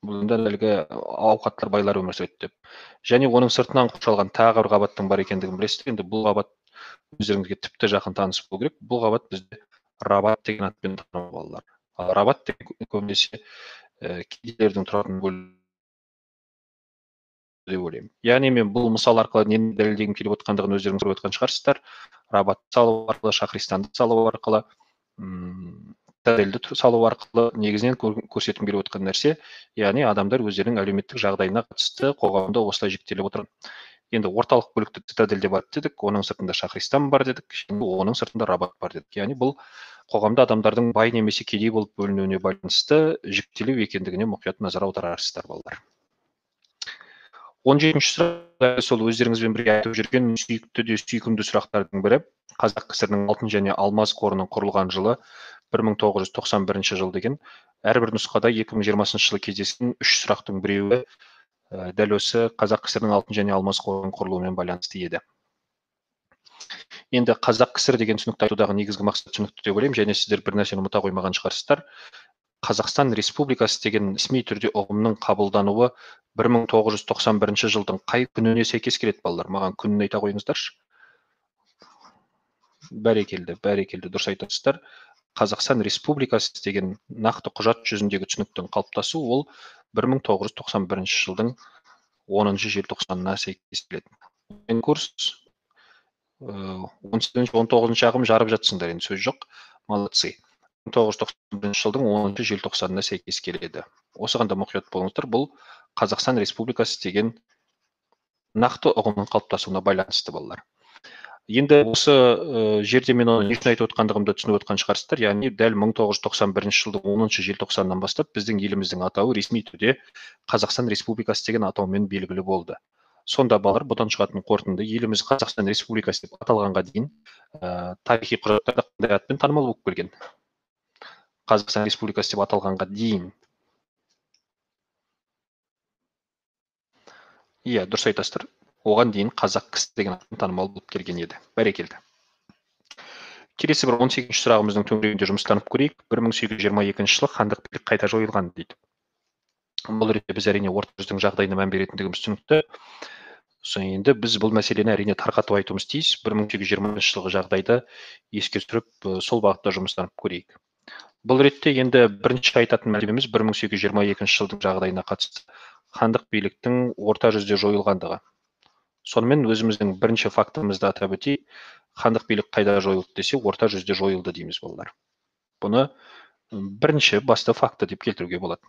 Бұл енді әлгі ауқаттылар байлар өмір сүреді деп. Және оның сыртынан қоршалған тағы бір қабаттың бар екендігін білесіздер. Енді бұл қабат өздеріңізге тіпті жақын таныс болу керек. Бұл қабат бізде Рабат деген атпен танымал балалар. Рабат көбінесе кедейлердің тұратын бөлігі деп ойлаймын. Яғни мен бұл мысал арқылы нені дәлелдегім келіп отқандығын өздеріңіз көріп отқан шығарсыздар. Рабат салу арқылы, Шахристанды салу арқылы, цитадельді салу арқылы негізінен көрсеткім келіп отқан нәрсе, яғни адамдар өздерінің әлеуметтік жағдайына қатысты қоғамда осылай жіктеліп отыр. Енді орталық бөлікті цитадель деп атты дедік, оның сыртында Шахристан бар дедік, оның сыртында Рабат бар дедік. Яғни бұл қоғамда адамдардың бай немесе кедей болып бөлінуіне байланысты жіктелу екендігіне мұқият назар аударарсыздар, балалар. 17-ші сұрақ сол өздеріңізбен бірге айтып жүрген сүйікті де сүйкімді сұрақтардың бірі. Қазақ КСР-ның алтын және алмаз қорының құрылған жылы 1991 жыл деген. Әрбір нұсқада 2020 жылы кездескен 3 сұрақтың біреуі дәл осы Қазақ КСР-ның алтын және алмаз қорының құрылуымен байланысты еді. Енді Қазақ КСР деген түсінікті айтудағы негізгі мақсат түсінікті деп ойлаймын, және сіздер бір нәрсені ұмыта қоймаған шығарсыздар. Қазақстан Республикасы деген ресми түрде ұғымның қабылдануы 1991 жылдың қай күніне сәйкес келеді, балалар? Маған күнін айта қойыңыздаршы. Бәрекелді, дұрыс айтасыздар. Қазақстан Республикасы деген нақты құжат жүзіндегі түсініктің қалыптасу ол 1991 жылдың 10 желтоқсанына сәйкес келеді. Курс 18-19 ағым жарып жатсыңдар, енді сөз жоқ. Молодцы. 1991 жылдың 10 желтоқсанына сәйкес келеді. Осыған да мұқият болыңыздар. Бұл Қазақстан Республикасы деген нақты ұғымның қалыптасуына байланысты, балалар. Енді осы жерде мен оны не үшін айтып отқандығымды түсініп отқан шығарсыздар. Яғни дәл 1991 жылдың 10 желтоқсаннан бастап біздің еліміздің атауы ресми түрде Қазақстан Республикасы деген атаумен белгілі болды. Сонда балалар, бұдан шығатын қорытынды, еліміз Қазақстан Республикасы деп аталғанға дейін тарихи құжаттарда қандай атпен танымал болып келген? Қазақстан Республикасы деп аталғанға дейін. Иә, дұрыс айтасыздар. Оған дейін Қазақ КСР деген атпен танымал болып келген еді. Бәрекелді. Келесі бір 18-ші сұрағымыздың төңірегінде жұмыстанып көрейік. 1822 жылы хандық билік қайта жойылған дейді. Бұл ретте біз әрине орта жүздің жағдайына мән беретіндігіміз түсінікті. Енді біз бұл мәселені әрине тарқатып айтуымыз тиіс. 1820 жылғы жағдайды еске түсіріп, сол бағытта жұмыстанып көрейік. Бұл ретте енді бірінші айтатын мәлімеміз 1822 жылдың жағдайына қатысты хандық биліктің орта жүзде жойылғандығы. Сонымен өзіміздің бірінші фактымызды атап өтейік. Хандық билік қайда жойылды десе, орта жүзде жойылды дейміз, балалар. Бұны бірінші басты факты деп келтіруге болады.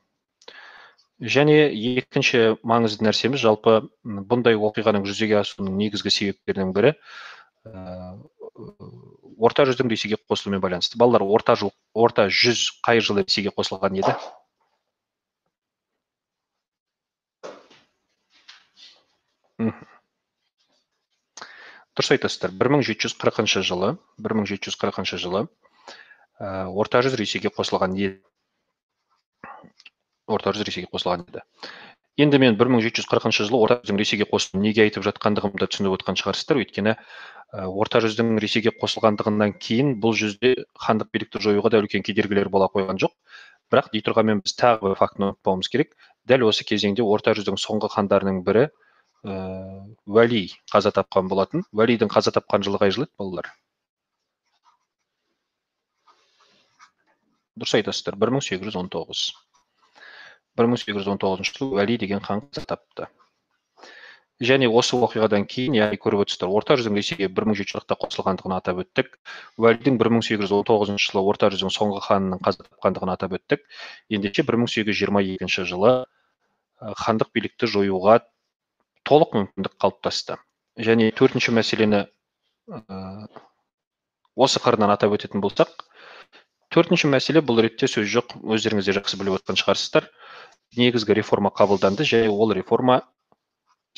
Және екінші маңызды нәрсеміз, жалпы бұндай оқиғаның жүзеге асуының негізгі себептерінің бірі орта жүздің Ресейге қосылуымен байланысты. Балалар, орта жүз қай жылы Ресейге қосылған еді? Дұрыс айтасыздар. 1740 жылы орта жүз Ресейге қосылған еді. Енді мен 1740 жылы орта жүздің Ресейге қосылуын неге айтып жатқандығымды түсініп отқан шығарсыздар. Өйткені орта жүздің Ресейге қосылғандығынан кейін бұл жүзде хандық билікті жоюға да үлкен кедергілер бола қойған жоқ. Бірақ дей тұрғанмен біз тағы бір фактіні ұмытпауымыз керек. Дәл осы кезеңде орта жүздің соңғы хандарының бірі Уәли қаза тапқан болатын. Уәлидің қаза тапқан жылы қай жыл еді, балалар? Дұрыс айтасыздар, 1819. 1819 жылы Уәли деген хан қаза тапты. Және осы оқиғадан кейін, яғни көріп отырсыздар, орта жүздің Ресейге 1740-та қосылғандығын атап өттік. Уәлидің 1819 жылы орта жүздің соңғы ханының қаза тапқандығын атап өттік. Ендеше 1822 жылы хандық билікті жоюға толық мүмкіндік қалыптасты. Және төртінші мәселені осы қырынан атап өтетін болсақ, төртінші мәселе, бұл ретте сөз жоқ, өздеріңіз де жақсы біліп отқан шығарсыздар. Негізгі реформа қабылданды, және ол реформа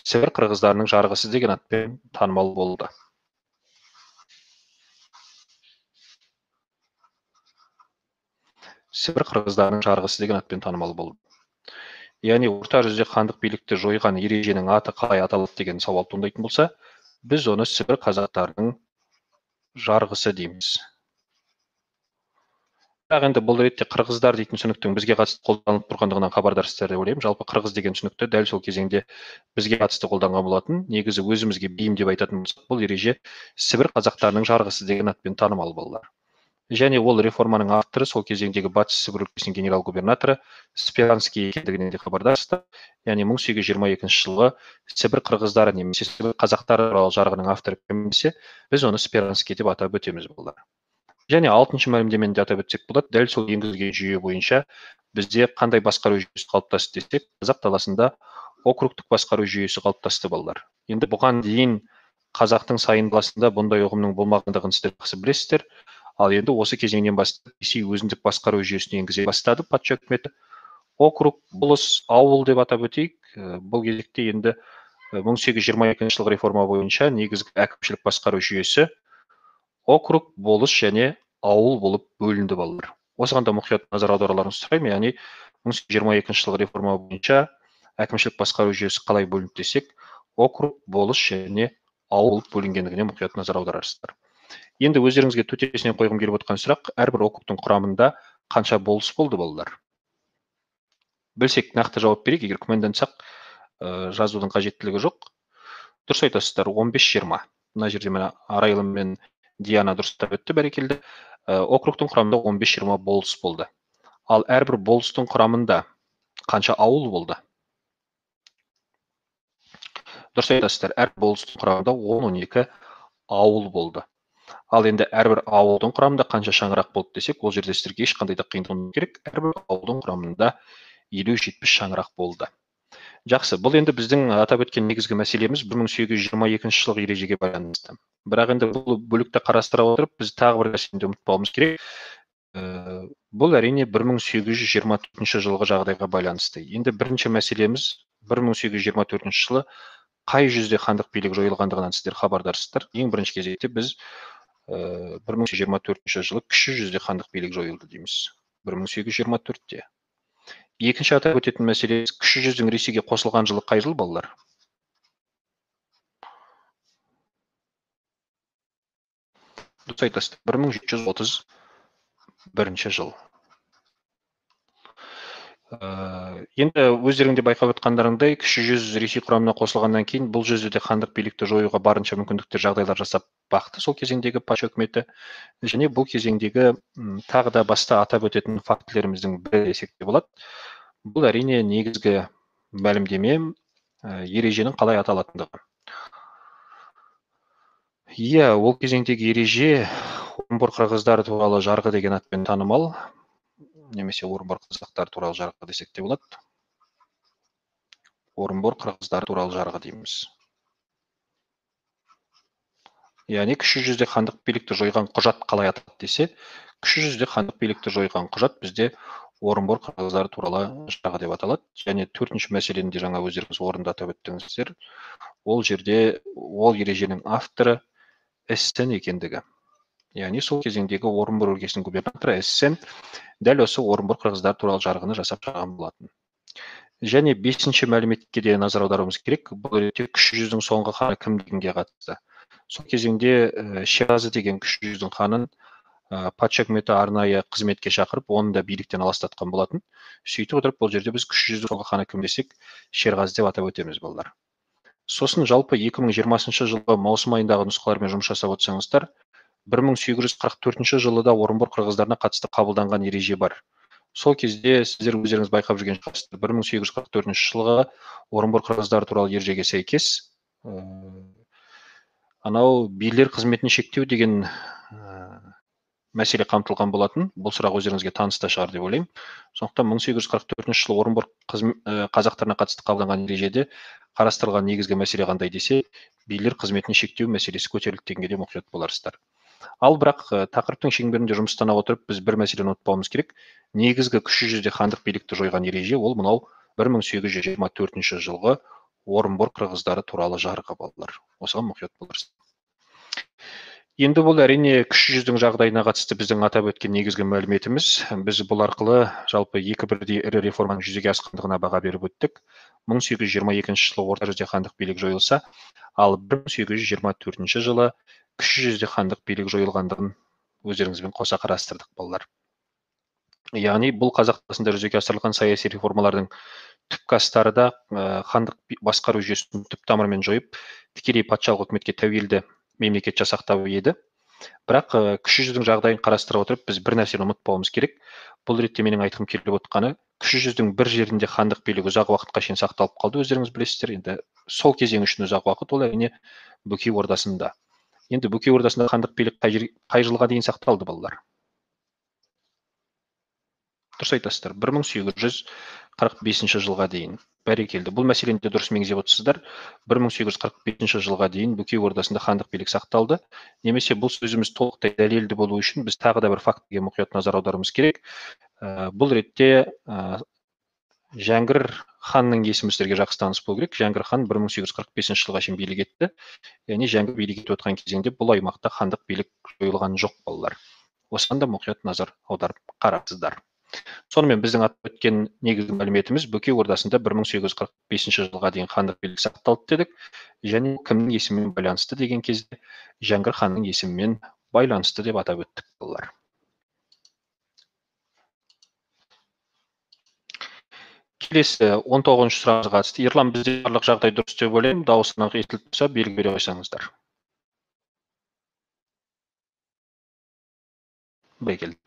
Сібір қырғыздарының жарғысы деген атпен танымал болды. Сібір қырғыздарының жарғысы деген атпен танымал болды. Яғни орта жүзде хандық билікті жойған ереженің аты қалай аталады деген сауал туындайтын болса, біз оны Сібір қазақтарының жарғысы дейміз. Бірақ енді бұл ретте қырғыздар дейтін түсініктің бізге қатысты қолданылып тұрғандығынан хабардарсыздар деп ойлаймын. Жалпы қырғыз деген түсінікті дәл сол кезеңде бізге қатысты қолданған болатын. Негізі өзімізге бейім деп айтатын болсақ, бұл ереже Сібір қазақтарының жарғысы деген атпен танымал, балалар. Және ол реформаның авторы сол кезеңдегі батыс Сібір өлкесінің генерал-губернаторы Спиранский екендігінен де хабардарсыздар. Яғни 1822 жылғы Сібір қырғыздары немесе Сібір қазақтары туралы жарғының авторы кім десе, біз оны Спиранский деп атап өтеміз балалар. Және 6-шы мәлімдемені де атап өтсек болады. Дәл сол енгізілген жүйе бойынша бізде қандай басқару жүйесі қалыптасты десек, қазақ даласында округтік басқару жүйесі қалыптасты балалар. Енді бұған дейін қазақтың сайын даласында бұндай ұғымның болмағандығын сіздер жақсы білесіздер. Ал енді осы кезеңнен бастап Ресей өзіндік басқару жүйесін енгізе бастады патша үкіметі. Округ, болыс, ауыл деп атап өтейік. Бұл кезекте енді 1822 жылғы реформа бойынша негізгі әкімшілік басқару жүйесі округ, болыс және ауыл болып бөлінді балалар. Осыған да мұқият назар аударуларыңызды сұраймын. Яғни 1822 жылғы реформа бойынша әкімшілік басқару жүйесі қалай бөлінді десек, округ, болыс және ауыл болып бөлінгендігіне мұқият назар аударарсыздар. Енді өздеріңізге төтесінен қойғым келіп отқан сұрақ, әрбір округтың құрамында қанша болыс болды балалар? Білсек нақты жауап берейік, егер күмәндансақ, жазудың қажеттілігі жоқ. Дұрыс айтасыздар, 15-20. Мына жерде мына Арайлым мен Диана дұрыстап өтті, бәрекелді. Округтың құрамында 15-20 болыс болды. Ал әрбір болыстың құрамында қанша ауыл болды? Дұрыс айтасыздар, әр болыстың құрамында 10-12 ауыл болды. Ал енді әрбір ауылдың құрамында қанша шаңырақ болды десек, ол жерде сіздерге ешқандай да қиындық керек. Әрбір ауылдың құрамында 50-70 шаңырақ болды. Жақсы, бұл енді біздің атап өткен негізгі мәселеміз 1822 жылғы ережеге байланысты. Бірақ енді бұл бөлікті қарастыра отырып, біз тағы бір нәрсені ұмытпауымыз керек. Бұл әрине 1824 жылғы жағдайға байланысты. Енді бірінші мәселеміз 1824 жылы қай жүзде хандық билік жойылғандығынан сіздер хабардарсыздар. Ең бірінші кезекте біз 1824 жылы кіші жүзде хандық билік жойылды дейміз. 1824-те. Екінші атап өтетін мәселе, кіші жүздің Ресейге қосылған жылы қай жыл балалар? Дұрыс айтасыздар, 1731 жыл. Енді өздеріңде байқап отқандарыңдай, кіші жүз Ресей құрамына қосылғаннан кейін бұл жүзде хандық билікті жоюға барынша мүмкіндіктер, жағдайлар жасап бақты сол кезеңдегі патша үкіметі. Және бұл кезеңдегі тағы да баста атап өтетін фактілеріміздің бірі десек те болады. Бұл әрине негізгі мәлімдеме, ереженің қалай аталатындығы. Ол кезеңдегі ереже Орынбор қырғыздары туралы жарғы деген атпен танымал, немесе Орынбор қазақтары туралы жарғы десек те болады. Орынбор қырғыздары туралы жарғы дейміз. Яғни кіші жүзде хандық билікті жойған құжат қалай аталады десе, кіші жүзде хандық билікті жойған құжат бізде Орынбор қырғыздары туралы жарғы деп аталады. Және төртінші мәселені де жаңа өздеріңіз орында атап өттіңіздер. Ол жерде ол ереженің авторы Эссен екендігі. Яғни сол кезеңдегі Орынбор өлкесінің губернаторы Эссен дәл осы Орынбор қырғыздары туралы жарғыны жасап шығарған болатын. Және бесінші мәліметке де назар аударуымыз керек. Бұл ретте кіші жүздің соңғы ханы кім дегенге қатысты. Сол кезеңде Шеразы деген кіші жүздің ханын патша үкіметі арнайы қызметке шақырып, оны да биліктен аластатқан болатын. Сөйтіп отырып, бұл жерде біз кіші жүздің соңғы ханы кім десек, Шерғазы деп атап өтеміз балалар. Сосын жалпы 2020 жылғы маусым айындағы нұсқалармен жұмыс жасап отырсаңыздар, 1844 жылы да Орынбор қырғыздарына қатысты қабылданған ереже бар. Сол кезде сіздер өздеріңіз байқап жүрген шығарсыздар, 1844 жылғы Орынбор қырғыздары туралы ережеге сәйкес анау билер қызметін шектеу деген мәселе қамтылған болатын. Бұл сұрақ өздеріңізге таныс та шығар деп ойлаймын. Сондықтан 1844 жылы Орынбор қазақтарына қатысты қабылданған ережеде қарастырылған негізгі мәселе қандай десе, билер қызметін шектеу мәселесі көтерілді дегенге де мұқият боларсыздар. Ал бірақ тақырыптың шеңберінде жұмыстана отырып, біз бір мәселені ұмытпауымыз керек. Негізгі кіші жүзде хандық билікті жойған ереже ол мынау 1824 жылғы Орынбор қырғыздары туралы жарғы балалар. Осыған мұқият боларсыздар. Енді бұл әрине кіші жүздің жағдайына қатысты біздің атап өткен негізгі мәліметіміз. Біз бұл арқылы жалпы екі бірдей ірі реформаның жүзеге асқандығына баға беріп өттік. 1822 жылы орта жүзде хандық билік жойылса, ал 1824 жылы кіші жүзде хандық билік жойылғандығын өздеріңізбен қоса қарастырдық балалар. Яғни бұл қазақ даласында жүзеге асырылған саяси реформалардың түпкі астары да хандық басқару жүйесін түп тамырымен жойып, тікелей патшалық үкіметке тәуелді мемлекет жасақтау еді. Бірақ кіші жүздің жағдайын қарастыра отырып біз бір нәрсені ұмытпауымыз керек. Бұл ретте менің айтқым келіп отқаны, кіші жүздің бір жерінде хандық билік ұзақ уақытқа шейін сақталып қалды, өздеріңіз білесіздер. Енді сол кезең үшін ұзақ уақыт, ол әрине Бөкей Ордасында. Енді Бөкей Ордасында хандық билік қай жылға дейін сақталды, балалар? Дұрыс айтасыздар, 1845 жылға дейін. Бәрекелді. Бұл мәселені де дұрыс меңзеп отырсыздар. 1845 жылға дейін Бөкей Ордасында хандық билік сақталды. Немесе бұл сөзіміз толықтай дәлелді болу үшін біз тағы да бір фактіге мұқият назар аударуымыз керек. Бұл ретте Жәңгір ханның есімі сіздерге жақсы таныс болу керек. Жәңгір хан 1845 жылға шейін билік етті. Яғни Жәңгір билік етіп отқан кезеңде бұл аймақта хандық билік жойылған жоқ, балалар. Осыған да мұқият назар аударып қараңыздар. Сонымен біздің атап өткен негізгі мәліметіміз Бөкей Ордасында 1845 жылға дейін хандық билік сақталды дедік, және кімнің есімімен байланысты деген кезде Жәңгір ханның есімімен байланысты деп атап өттік, балалар. Келесі 19-шы сұрағымызға қатысты. Ерлан, бізде барлық жағдай дұрыс деп ойлаймын. Дауысынан естіліп тұрса, белгі бере қойсаңыздар. Бәрекелді.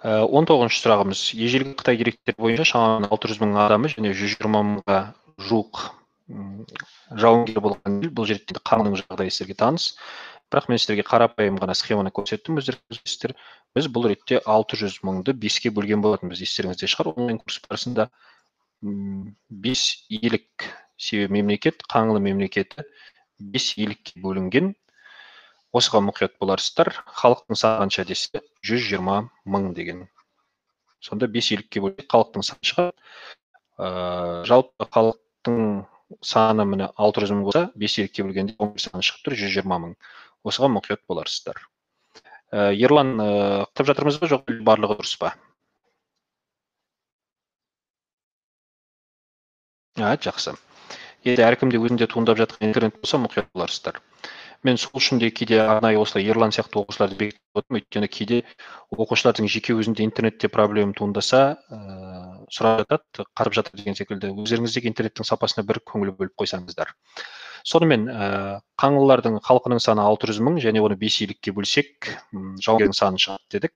19-шы сұрағымыз. Ежелгі Қытай деректері бойынша шамамен 600 мың адамы және 120 мыңға жуық жауынгер болған ел. Бұл жерде қаңның жағдайы сіздерге таныс. Бірақ мен сіздерге қарапайым ғана схеманы көрсеттім, өздеріңіздер. Біз бұл ретте 600 мыңды 5-ке бөлген болатынбыз. Естеріңізде шығар, онлайн курс барысында 5 иелік, себебі мемлекет, қаңлы мемлекеті 5 иелікке бөлінген. Осыған мұқият боларсыздар. Халықтың саны қанша десе 120 мың деген. Сонда 5 иелікке бөлінген халықтың саны шығады. Жалпы халықтың саны міне 600 мың болса, 5 иелікке бөлгенде 11 саны шығып тұр, 120 мың. Осыған мұқият боларсыздар. Ерлан, құптап жатырмыз ба, жоқ барлығы дұрыс па? Жақсы. Енді әркімде өзінде туындап жатқан интернет болса, мұқият боларсыздар. Мен сол үшін де кейде арнайы осылай Ерлан сияқты оқушыларды бекітіп отырмын, өйткені кейде оқушылардың жеке өзінде интернетте проблема туындаса, сұрап жатады, қарап жатыр деген секілді. Өздеріңіздегі интернеттің сапасына бір көңіл бөліп қойсаңыздар. Сонымен қаңлылардың халқының саны 600 мың және оны 5 иелікке бөлсек, жауынгердің саны шығады дедік.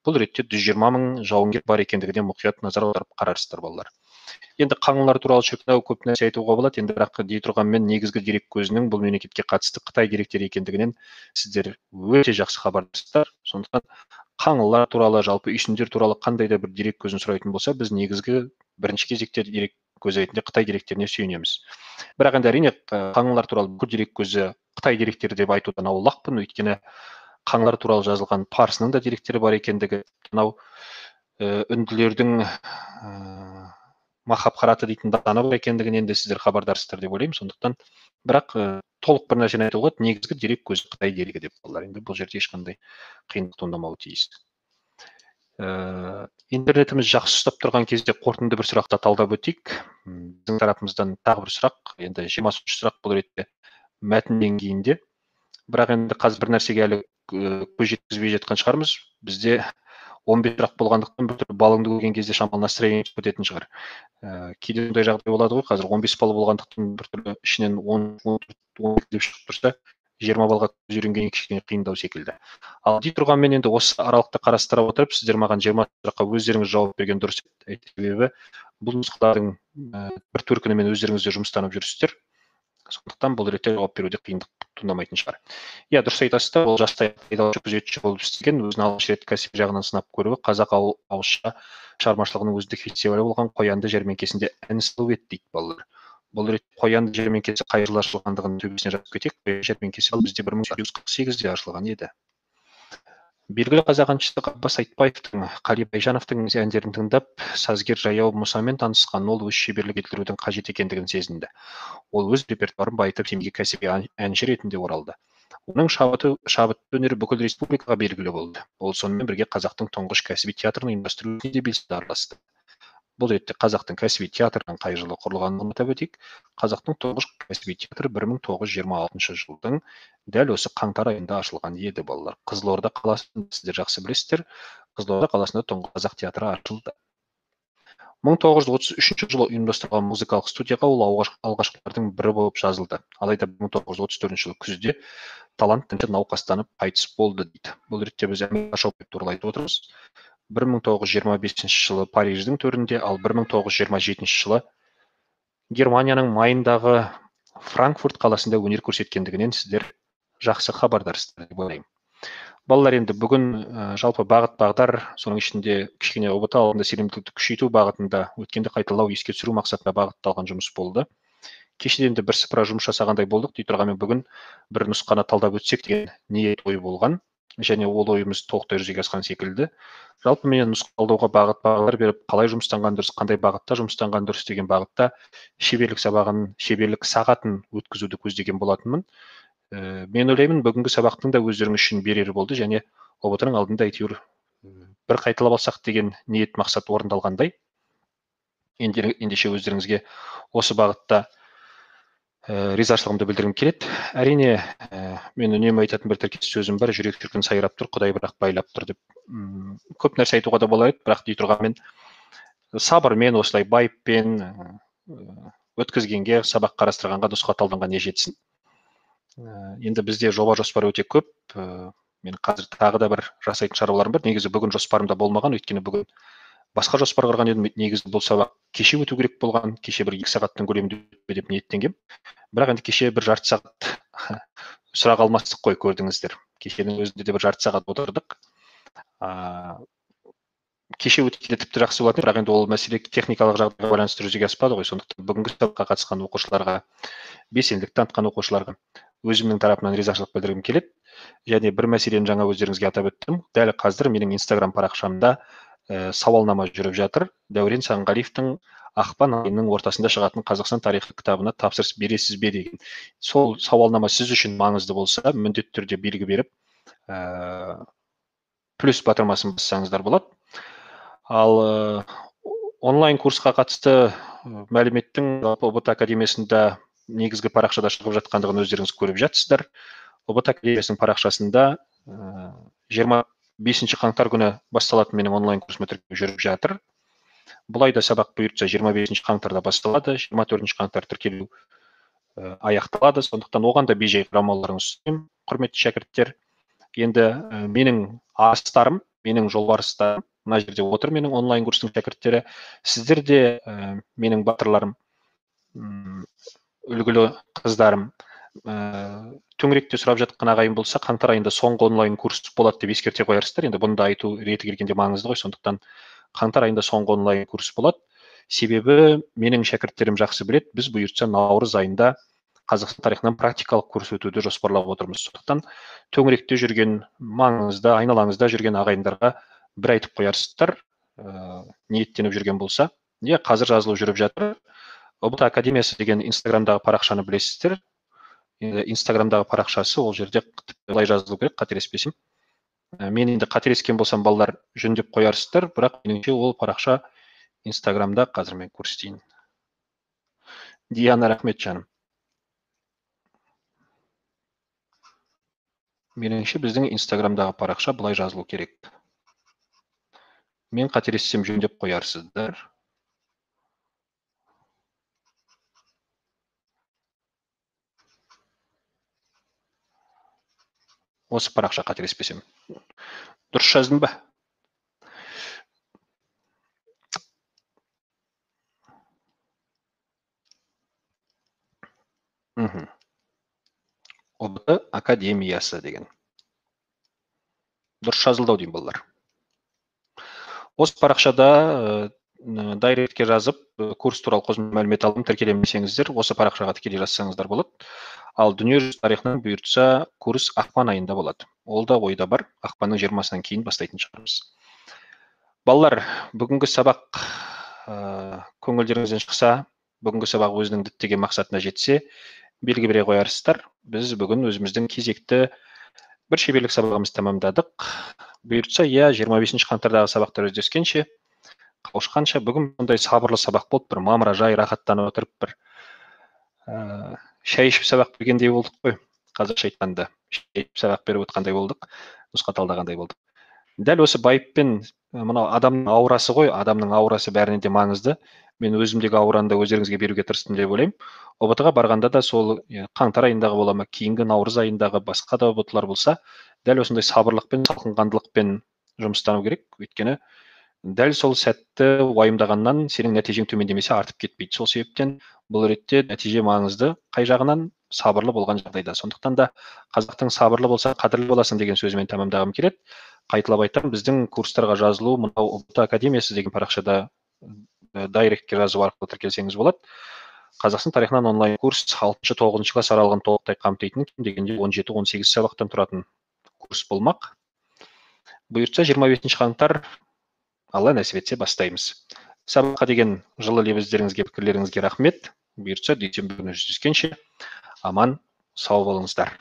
Бұл ретте 120 мың жауынгер бар екендігіне мұқият назар аударып қарарсыздар, балалар. Енді қаңлылар туралы шіркінау көп нәрсе айтуға болады, енді бірақ дей тұрғанмен негізгі дерек көзінің бұл мемлекетке қатысты Қытай деректері екендігінен сіздер өте жақсы хабардарсыздар. Сондықтан қаңлылар туралы, жалпы үйсіндер туралы қандай да бір дерек көзін сұрайтын болса, біз негізгі бірінші кезекте дерек көзі ретінде Қытай деректеріне сүйенеміз. Бірақ енді әрине қаңлылар туралы бүкіл дерек көзі Қытай деректері деп айтудан аулақпын, өйткені қаңлылар туралы жазылған парсының да деректері бар екендігі, мынау үнділердің Махабхарата дейтін дастаны бар екендігінен де сіздер хабардарсыздар деп ойлаймын. Сондықтан бірақ толық бір нәрсені айтуға болады, негізгі дерек көзі Қытай дерегі деп балалар. Енді бұл жерде ешқандай қиындық туындамауы тиіс. Интернетіміз жақсы ұстап тұрған кезде қорытынды бір сұрақты талдап өтейік. Біздің тарапымыздан тағы бір сұрақ, енді 20-шы сұрақ бұл ретте мәтін деңгейінде. Бірақ енді қазір бір нәрсеге әлі көз жеткізбей жатқан шығармыз. Бізде 15 сұрақ болғандықтан бір түрлі балыңды көрген кезде шамалы настроение өтетін шығар. Кейде ондай жағдай болады ғой, қазір 15 балы болғандықтан бір түрлі ішінен 10 деп шығып тұрса, 20 балға көз үйренгеннен кішкене қиындау секілді. Ал дей тұрғанмен енді осы аралықты қарастыра отырып, сіздер маған 20 сұраққа өздеріңіз жауап берген дұрыс, себебі бұл нұсқалардың бір төркінімен өздеріңіздер жұмыстанып жүрсіздер. Сондықтан бұл ретте жауап беруде қиындық туындамайтын шығар. Дұрыс айтасыздар, ол жастай айдаушы күзетші болып істеген, өзін алғаш рет кәсіби жағынан сынап көруі қазақ ауызша шығармашылығының өздік фестивалі болған Қоянды жәрмеңкесінде ән салу еді дейді, балалар. Бұл ретте Қоянды жәрмеңкесі қай жылы ашылғандығын төбесіне жазып кетейік. Қоянды жәрмеңкесі бізде 1848-де ашылған еді. Белгілі қазақ әншісі Ғаббас Айтбаевтың, Қали Байжановтың әндерін тыңдап, сазгер Жаяу Мұсамен танысқан, ол өз шеберлік етілудің қажет екендігін сезінді. Ол өз репертуарын байытып, семейге кәсіби әнші ретінде оралды. Оның шабыт өнері бүкіл республикаға белгілі болды. Ол сонымен бірге қазақтың тұңғыш кәсіби театрын ұйымдастыру ісіне де белсенді араласты. Бұл ретте қазақтың кәсіби театрының қай жылы құрылғанын атап өтейік. Қазақтың тұңғыш кәсіби театры 1926 жылдың дәл осы қаңтар айында ашылған еді, балалар. Қызылорда қаласында, сіздер жақсы білесіздер, Қызылорда қаласында тұңғыш қазақ театры ашылды. 1933 жылы ұйымдастырылған музыкалық студияға ол алғашқылардың бірі болып жазылды. Алайда 1934 жылы күзде талант науқастанып қайтыс болды дейді. Бұл ретте біз Шопен туралы айтып отырмыз. 1925 жылы Париждің төрінде, ал 1927 жылы Германияның майындағы Франкфурт қаласында өнер көрсеткендігінен сіздер жақсы хабардарсыздар деп ойлаймын. Балалар, енді бүгін жалпы бағыт бағдар, соның ішінде кішкене ұбт алғанда сенімділікті күшейту бағытында өткенді қайталау, еске түсіру мақсатында бағытталған жұмыс болды. Кешеден де бірсыпыра жұмыс жасағандай болдық. Дей тұрғанмен бүгін бір нұсқаны талдап өтсек деген ниет ой болған, және ол ойымыз толықтай жүзеге асқан секілді. Жалпы мен нұсқалдауға бағыт бағдар беріп, қалай жұмыстанған дұрыс, қандай бағытта жұмыстанған дұрыс деген бағытта шеберлік сағатын өткізуді көздеген болатынмын. Мен ойлаймын, бүгінгі сабақтың да өздеріңіз үшін берері болды, және ұбт-ның алдында әйтеуір бір қайталап алсақ деген ниет мақсат орындалғандай. Ендеше өздеріңізге осы бағытта ризашылығымды білдіргім келеді. Әрине, мен үнемі айтатын бір тіркес сөзім бар: жүрек шіркін сайрап тұр, Құдай бірақ байлап тұр деп. Көп нәрсе айтуға да болар еді, бірақ дей тұрғанмен сабырмен, осылай байыппен өткізгенге, сабақ қарастырғанға, нұсқа талданға не жетсін. Енді бізде жоба жоспар өте көп. Мен қазір тағы да бір жасайтын шаруаларым бар. Негізі бүгін жоспарымда болмаған, өйткені бүгін басқа жоспар құрған едім. Негізі бұл сабақ кеше өту керек болған, кеше бір 2 сағаттың көлемінде өтпе деп ниеттенгем. Бірақ енді кеше бір жарты сағат сұрақ алмастық қой, көрдіңіздер. Кешенің өзінде де бір жарты сағат отырдық. Кеше өткенде тіпті жақсы болатын, бірақ енді ол мәселе техникалық жағдайға байланысты жүзеге аспады ғой. Сондықтан бүгінгі сабаққа қатысқан оқушыларға, белсенділік танытқан оқушыларға өзімнің тарапымнан ризашылық білдіргім келеді. Және бір мәселені жаңа өздеріңізге атап өттім. Дәл қазір менің Инстаграм парақшамда сауалнама жүріп жатыр. Дәурен Сағынғалиевтің ақпан айының ортасында шығатын Қазақстан тарихы кітабына тапсырыс бересіз бе деген. Сол сауалнама сіз үшін маңызды болса, міндетті түрде белгі беріп, плюс батырмасын бассаңыздар болады. Ал онлайн курсқа қатысты мәліметтің ұбт академиясында негізгі парақшада шығып жатқандығын өздеріңіз көріп жатсыздар. ұбт академиясының парақшасында 25 қаңтар күні басталатын менің онлайн курсыма тіркеу жүріп жатыр. Бұлай да сабақ бұйыртса 25 қаңтарда басталады, 24 қаңтар тіркелу аяқталады. Сондықтан оған да бей-жай қарамауларыңызды сұраймын, құрметті шәкірттер. Енді менің астарым, менің жолбарыстарым мына жерде отыр, менің онлайн курстың шәкірттері. Сіздер де менің батырларым, үлгілі қыздарым. Төңіректе сұрап жатқан ағайын болса, қаңтар айында соңғы онлайн курс болады деп ескерте қоярсыздар. Енді бұны да айту реті келгенде маңызды ғой. Сондықтан қаңтар айында соңғы онлайн курс болады. Себебі менің шәкірттерім жақсы біледі, біз бұйыртса наурыз айында Қазақстан тарихынан практикалық курс өтуді жоспарлап отырмыз. Сондықтан төңіректе жүрген, маңызды, айналаңызда жүрген ағайындарға бір айтып қоярсыздар, ниеттеніп жүрген болса. Қазір жазылу жүріп жатыр. ұбт академиясы деген Инстаграмдағы парақшаны білесіздер. Инстаграмдағы парақшасы, ол жерде былай жазылу керек, қателеспесем. Мен енді қателескен болсам, балалар жөндеп қоярсыздар, бірақ меніңше ол парақша Инстаграмда, қазір мен көрсетейін. Диана, рахмет жаным. Меніңше біздің Инстаграмдағы парақша былай жазылу керек. Мен қателессем жөндеп қоярсыздар. Осы парақша, қателеспесем. Дұрыс жаздым ба? ұбт академиясы деген. Дұрыс жазылды деймін, балалар. Осы парақшада дайректке жазып, курс туралы қосымша мәлімет алып тіркелемесеңіздер, осы парақшаға тікелей жазсаңыздар болады. Ал дүниежүзі тарихынан бұйыртса, курс ақпан айында болады. Ол да ойда бар, ақпанның 20-сынан кейін бастайтын шығармыз. Балалар, бүгінгі сабақ көңілдеріңізден шықса, бүгінгі сабақ өзінің діттеген мақсатына жетсе, белгі бере қоярсыздар. Біз бүгін өзіміздің кезекті бір шеберлік сабағымызды тамамдадық. Бұйыртса, 25 қаңтардағы сабақтар өздескенше, қауышқанша, бүгін бұндай сабырлы сабақ болып, бір мамыражай, рахаттанып отырып, бір шай ішіп сабақ бергендей болдық қой. Қазақша айтқанда, шай ішіп сабақ беріп отқандай болдық, нұсқа талдағандай болдық. Дәл осы байыппен мынау адамның аурасы ғой, адамның аурасы бәрінен де маңызды. Мен өзімдегі аураны да өздеріңізге беруге тырыстым деп ойлаймын. ұбт ға барғанда да сол қаңтар айындағы бола ма, кейінгі наурыз айындағы басқа да ұбт лар болса, дәл осындай сабырлықпен, салқынқандылықпен жұмыстану керек. Өйткені дәл сол сәтті уайымдағаннан сенің нәтижең төмендемесе артып кетпейді. Сол себептен бұл ретте нәтиже маңызды, қай жағынан сабырлы болған жағдайда. Сондықтан да қазақтың сабырлы болса қадірлі боласың деген сөзімен тәмамдағым келеді. Қайталап айтамын, біздің курстарға жазылу мынау ұбт академиясы деген парақшада дайректке жазу арқылы тіркелсеңіз болады. Қазақстан тарихынан онлайн курс 6-9 класс аралығын толықтай қамтитын, кем дегенде 17-18 сабақтан тұратын курс болмақ. Бұйыртса 25 қаңтар Алла нәсіп етсе бастаймыз. Сабаққа деген жылы лебіздеріңізге, пікірлеріңізге рахмет. Бұйыртса дүйсенбі күні жүздескенше аман, сау болыңыздар.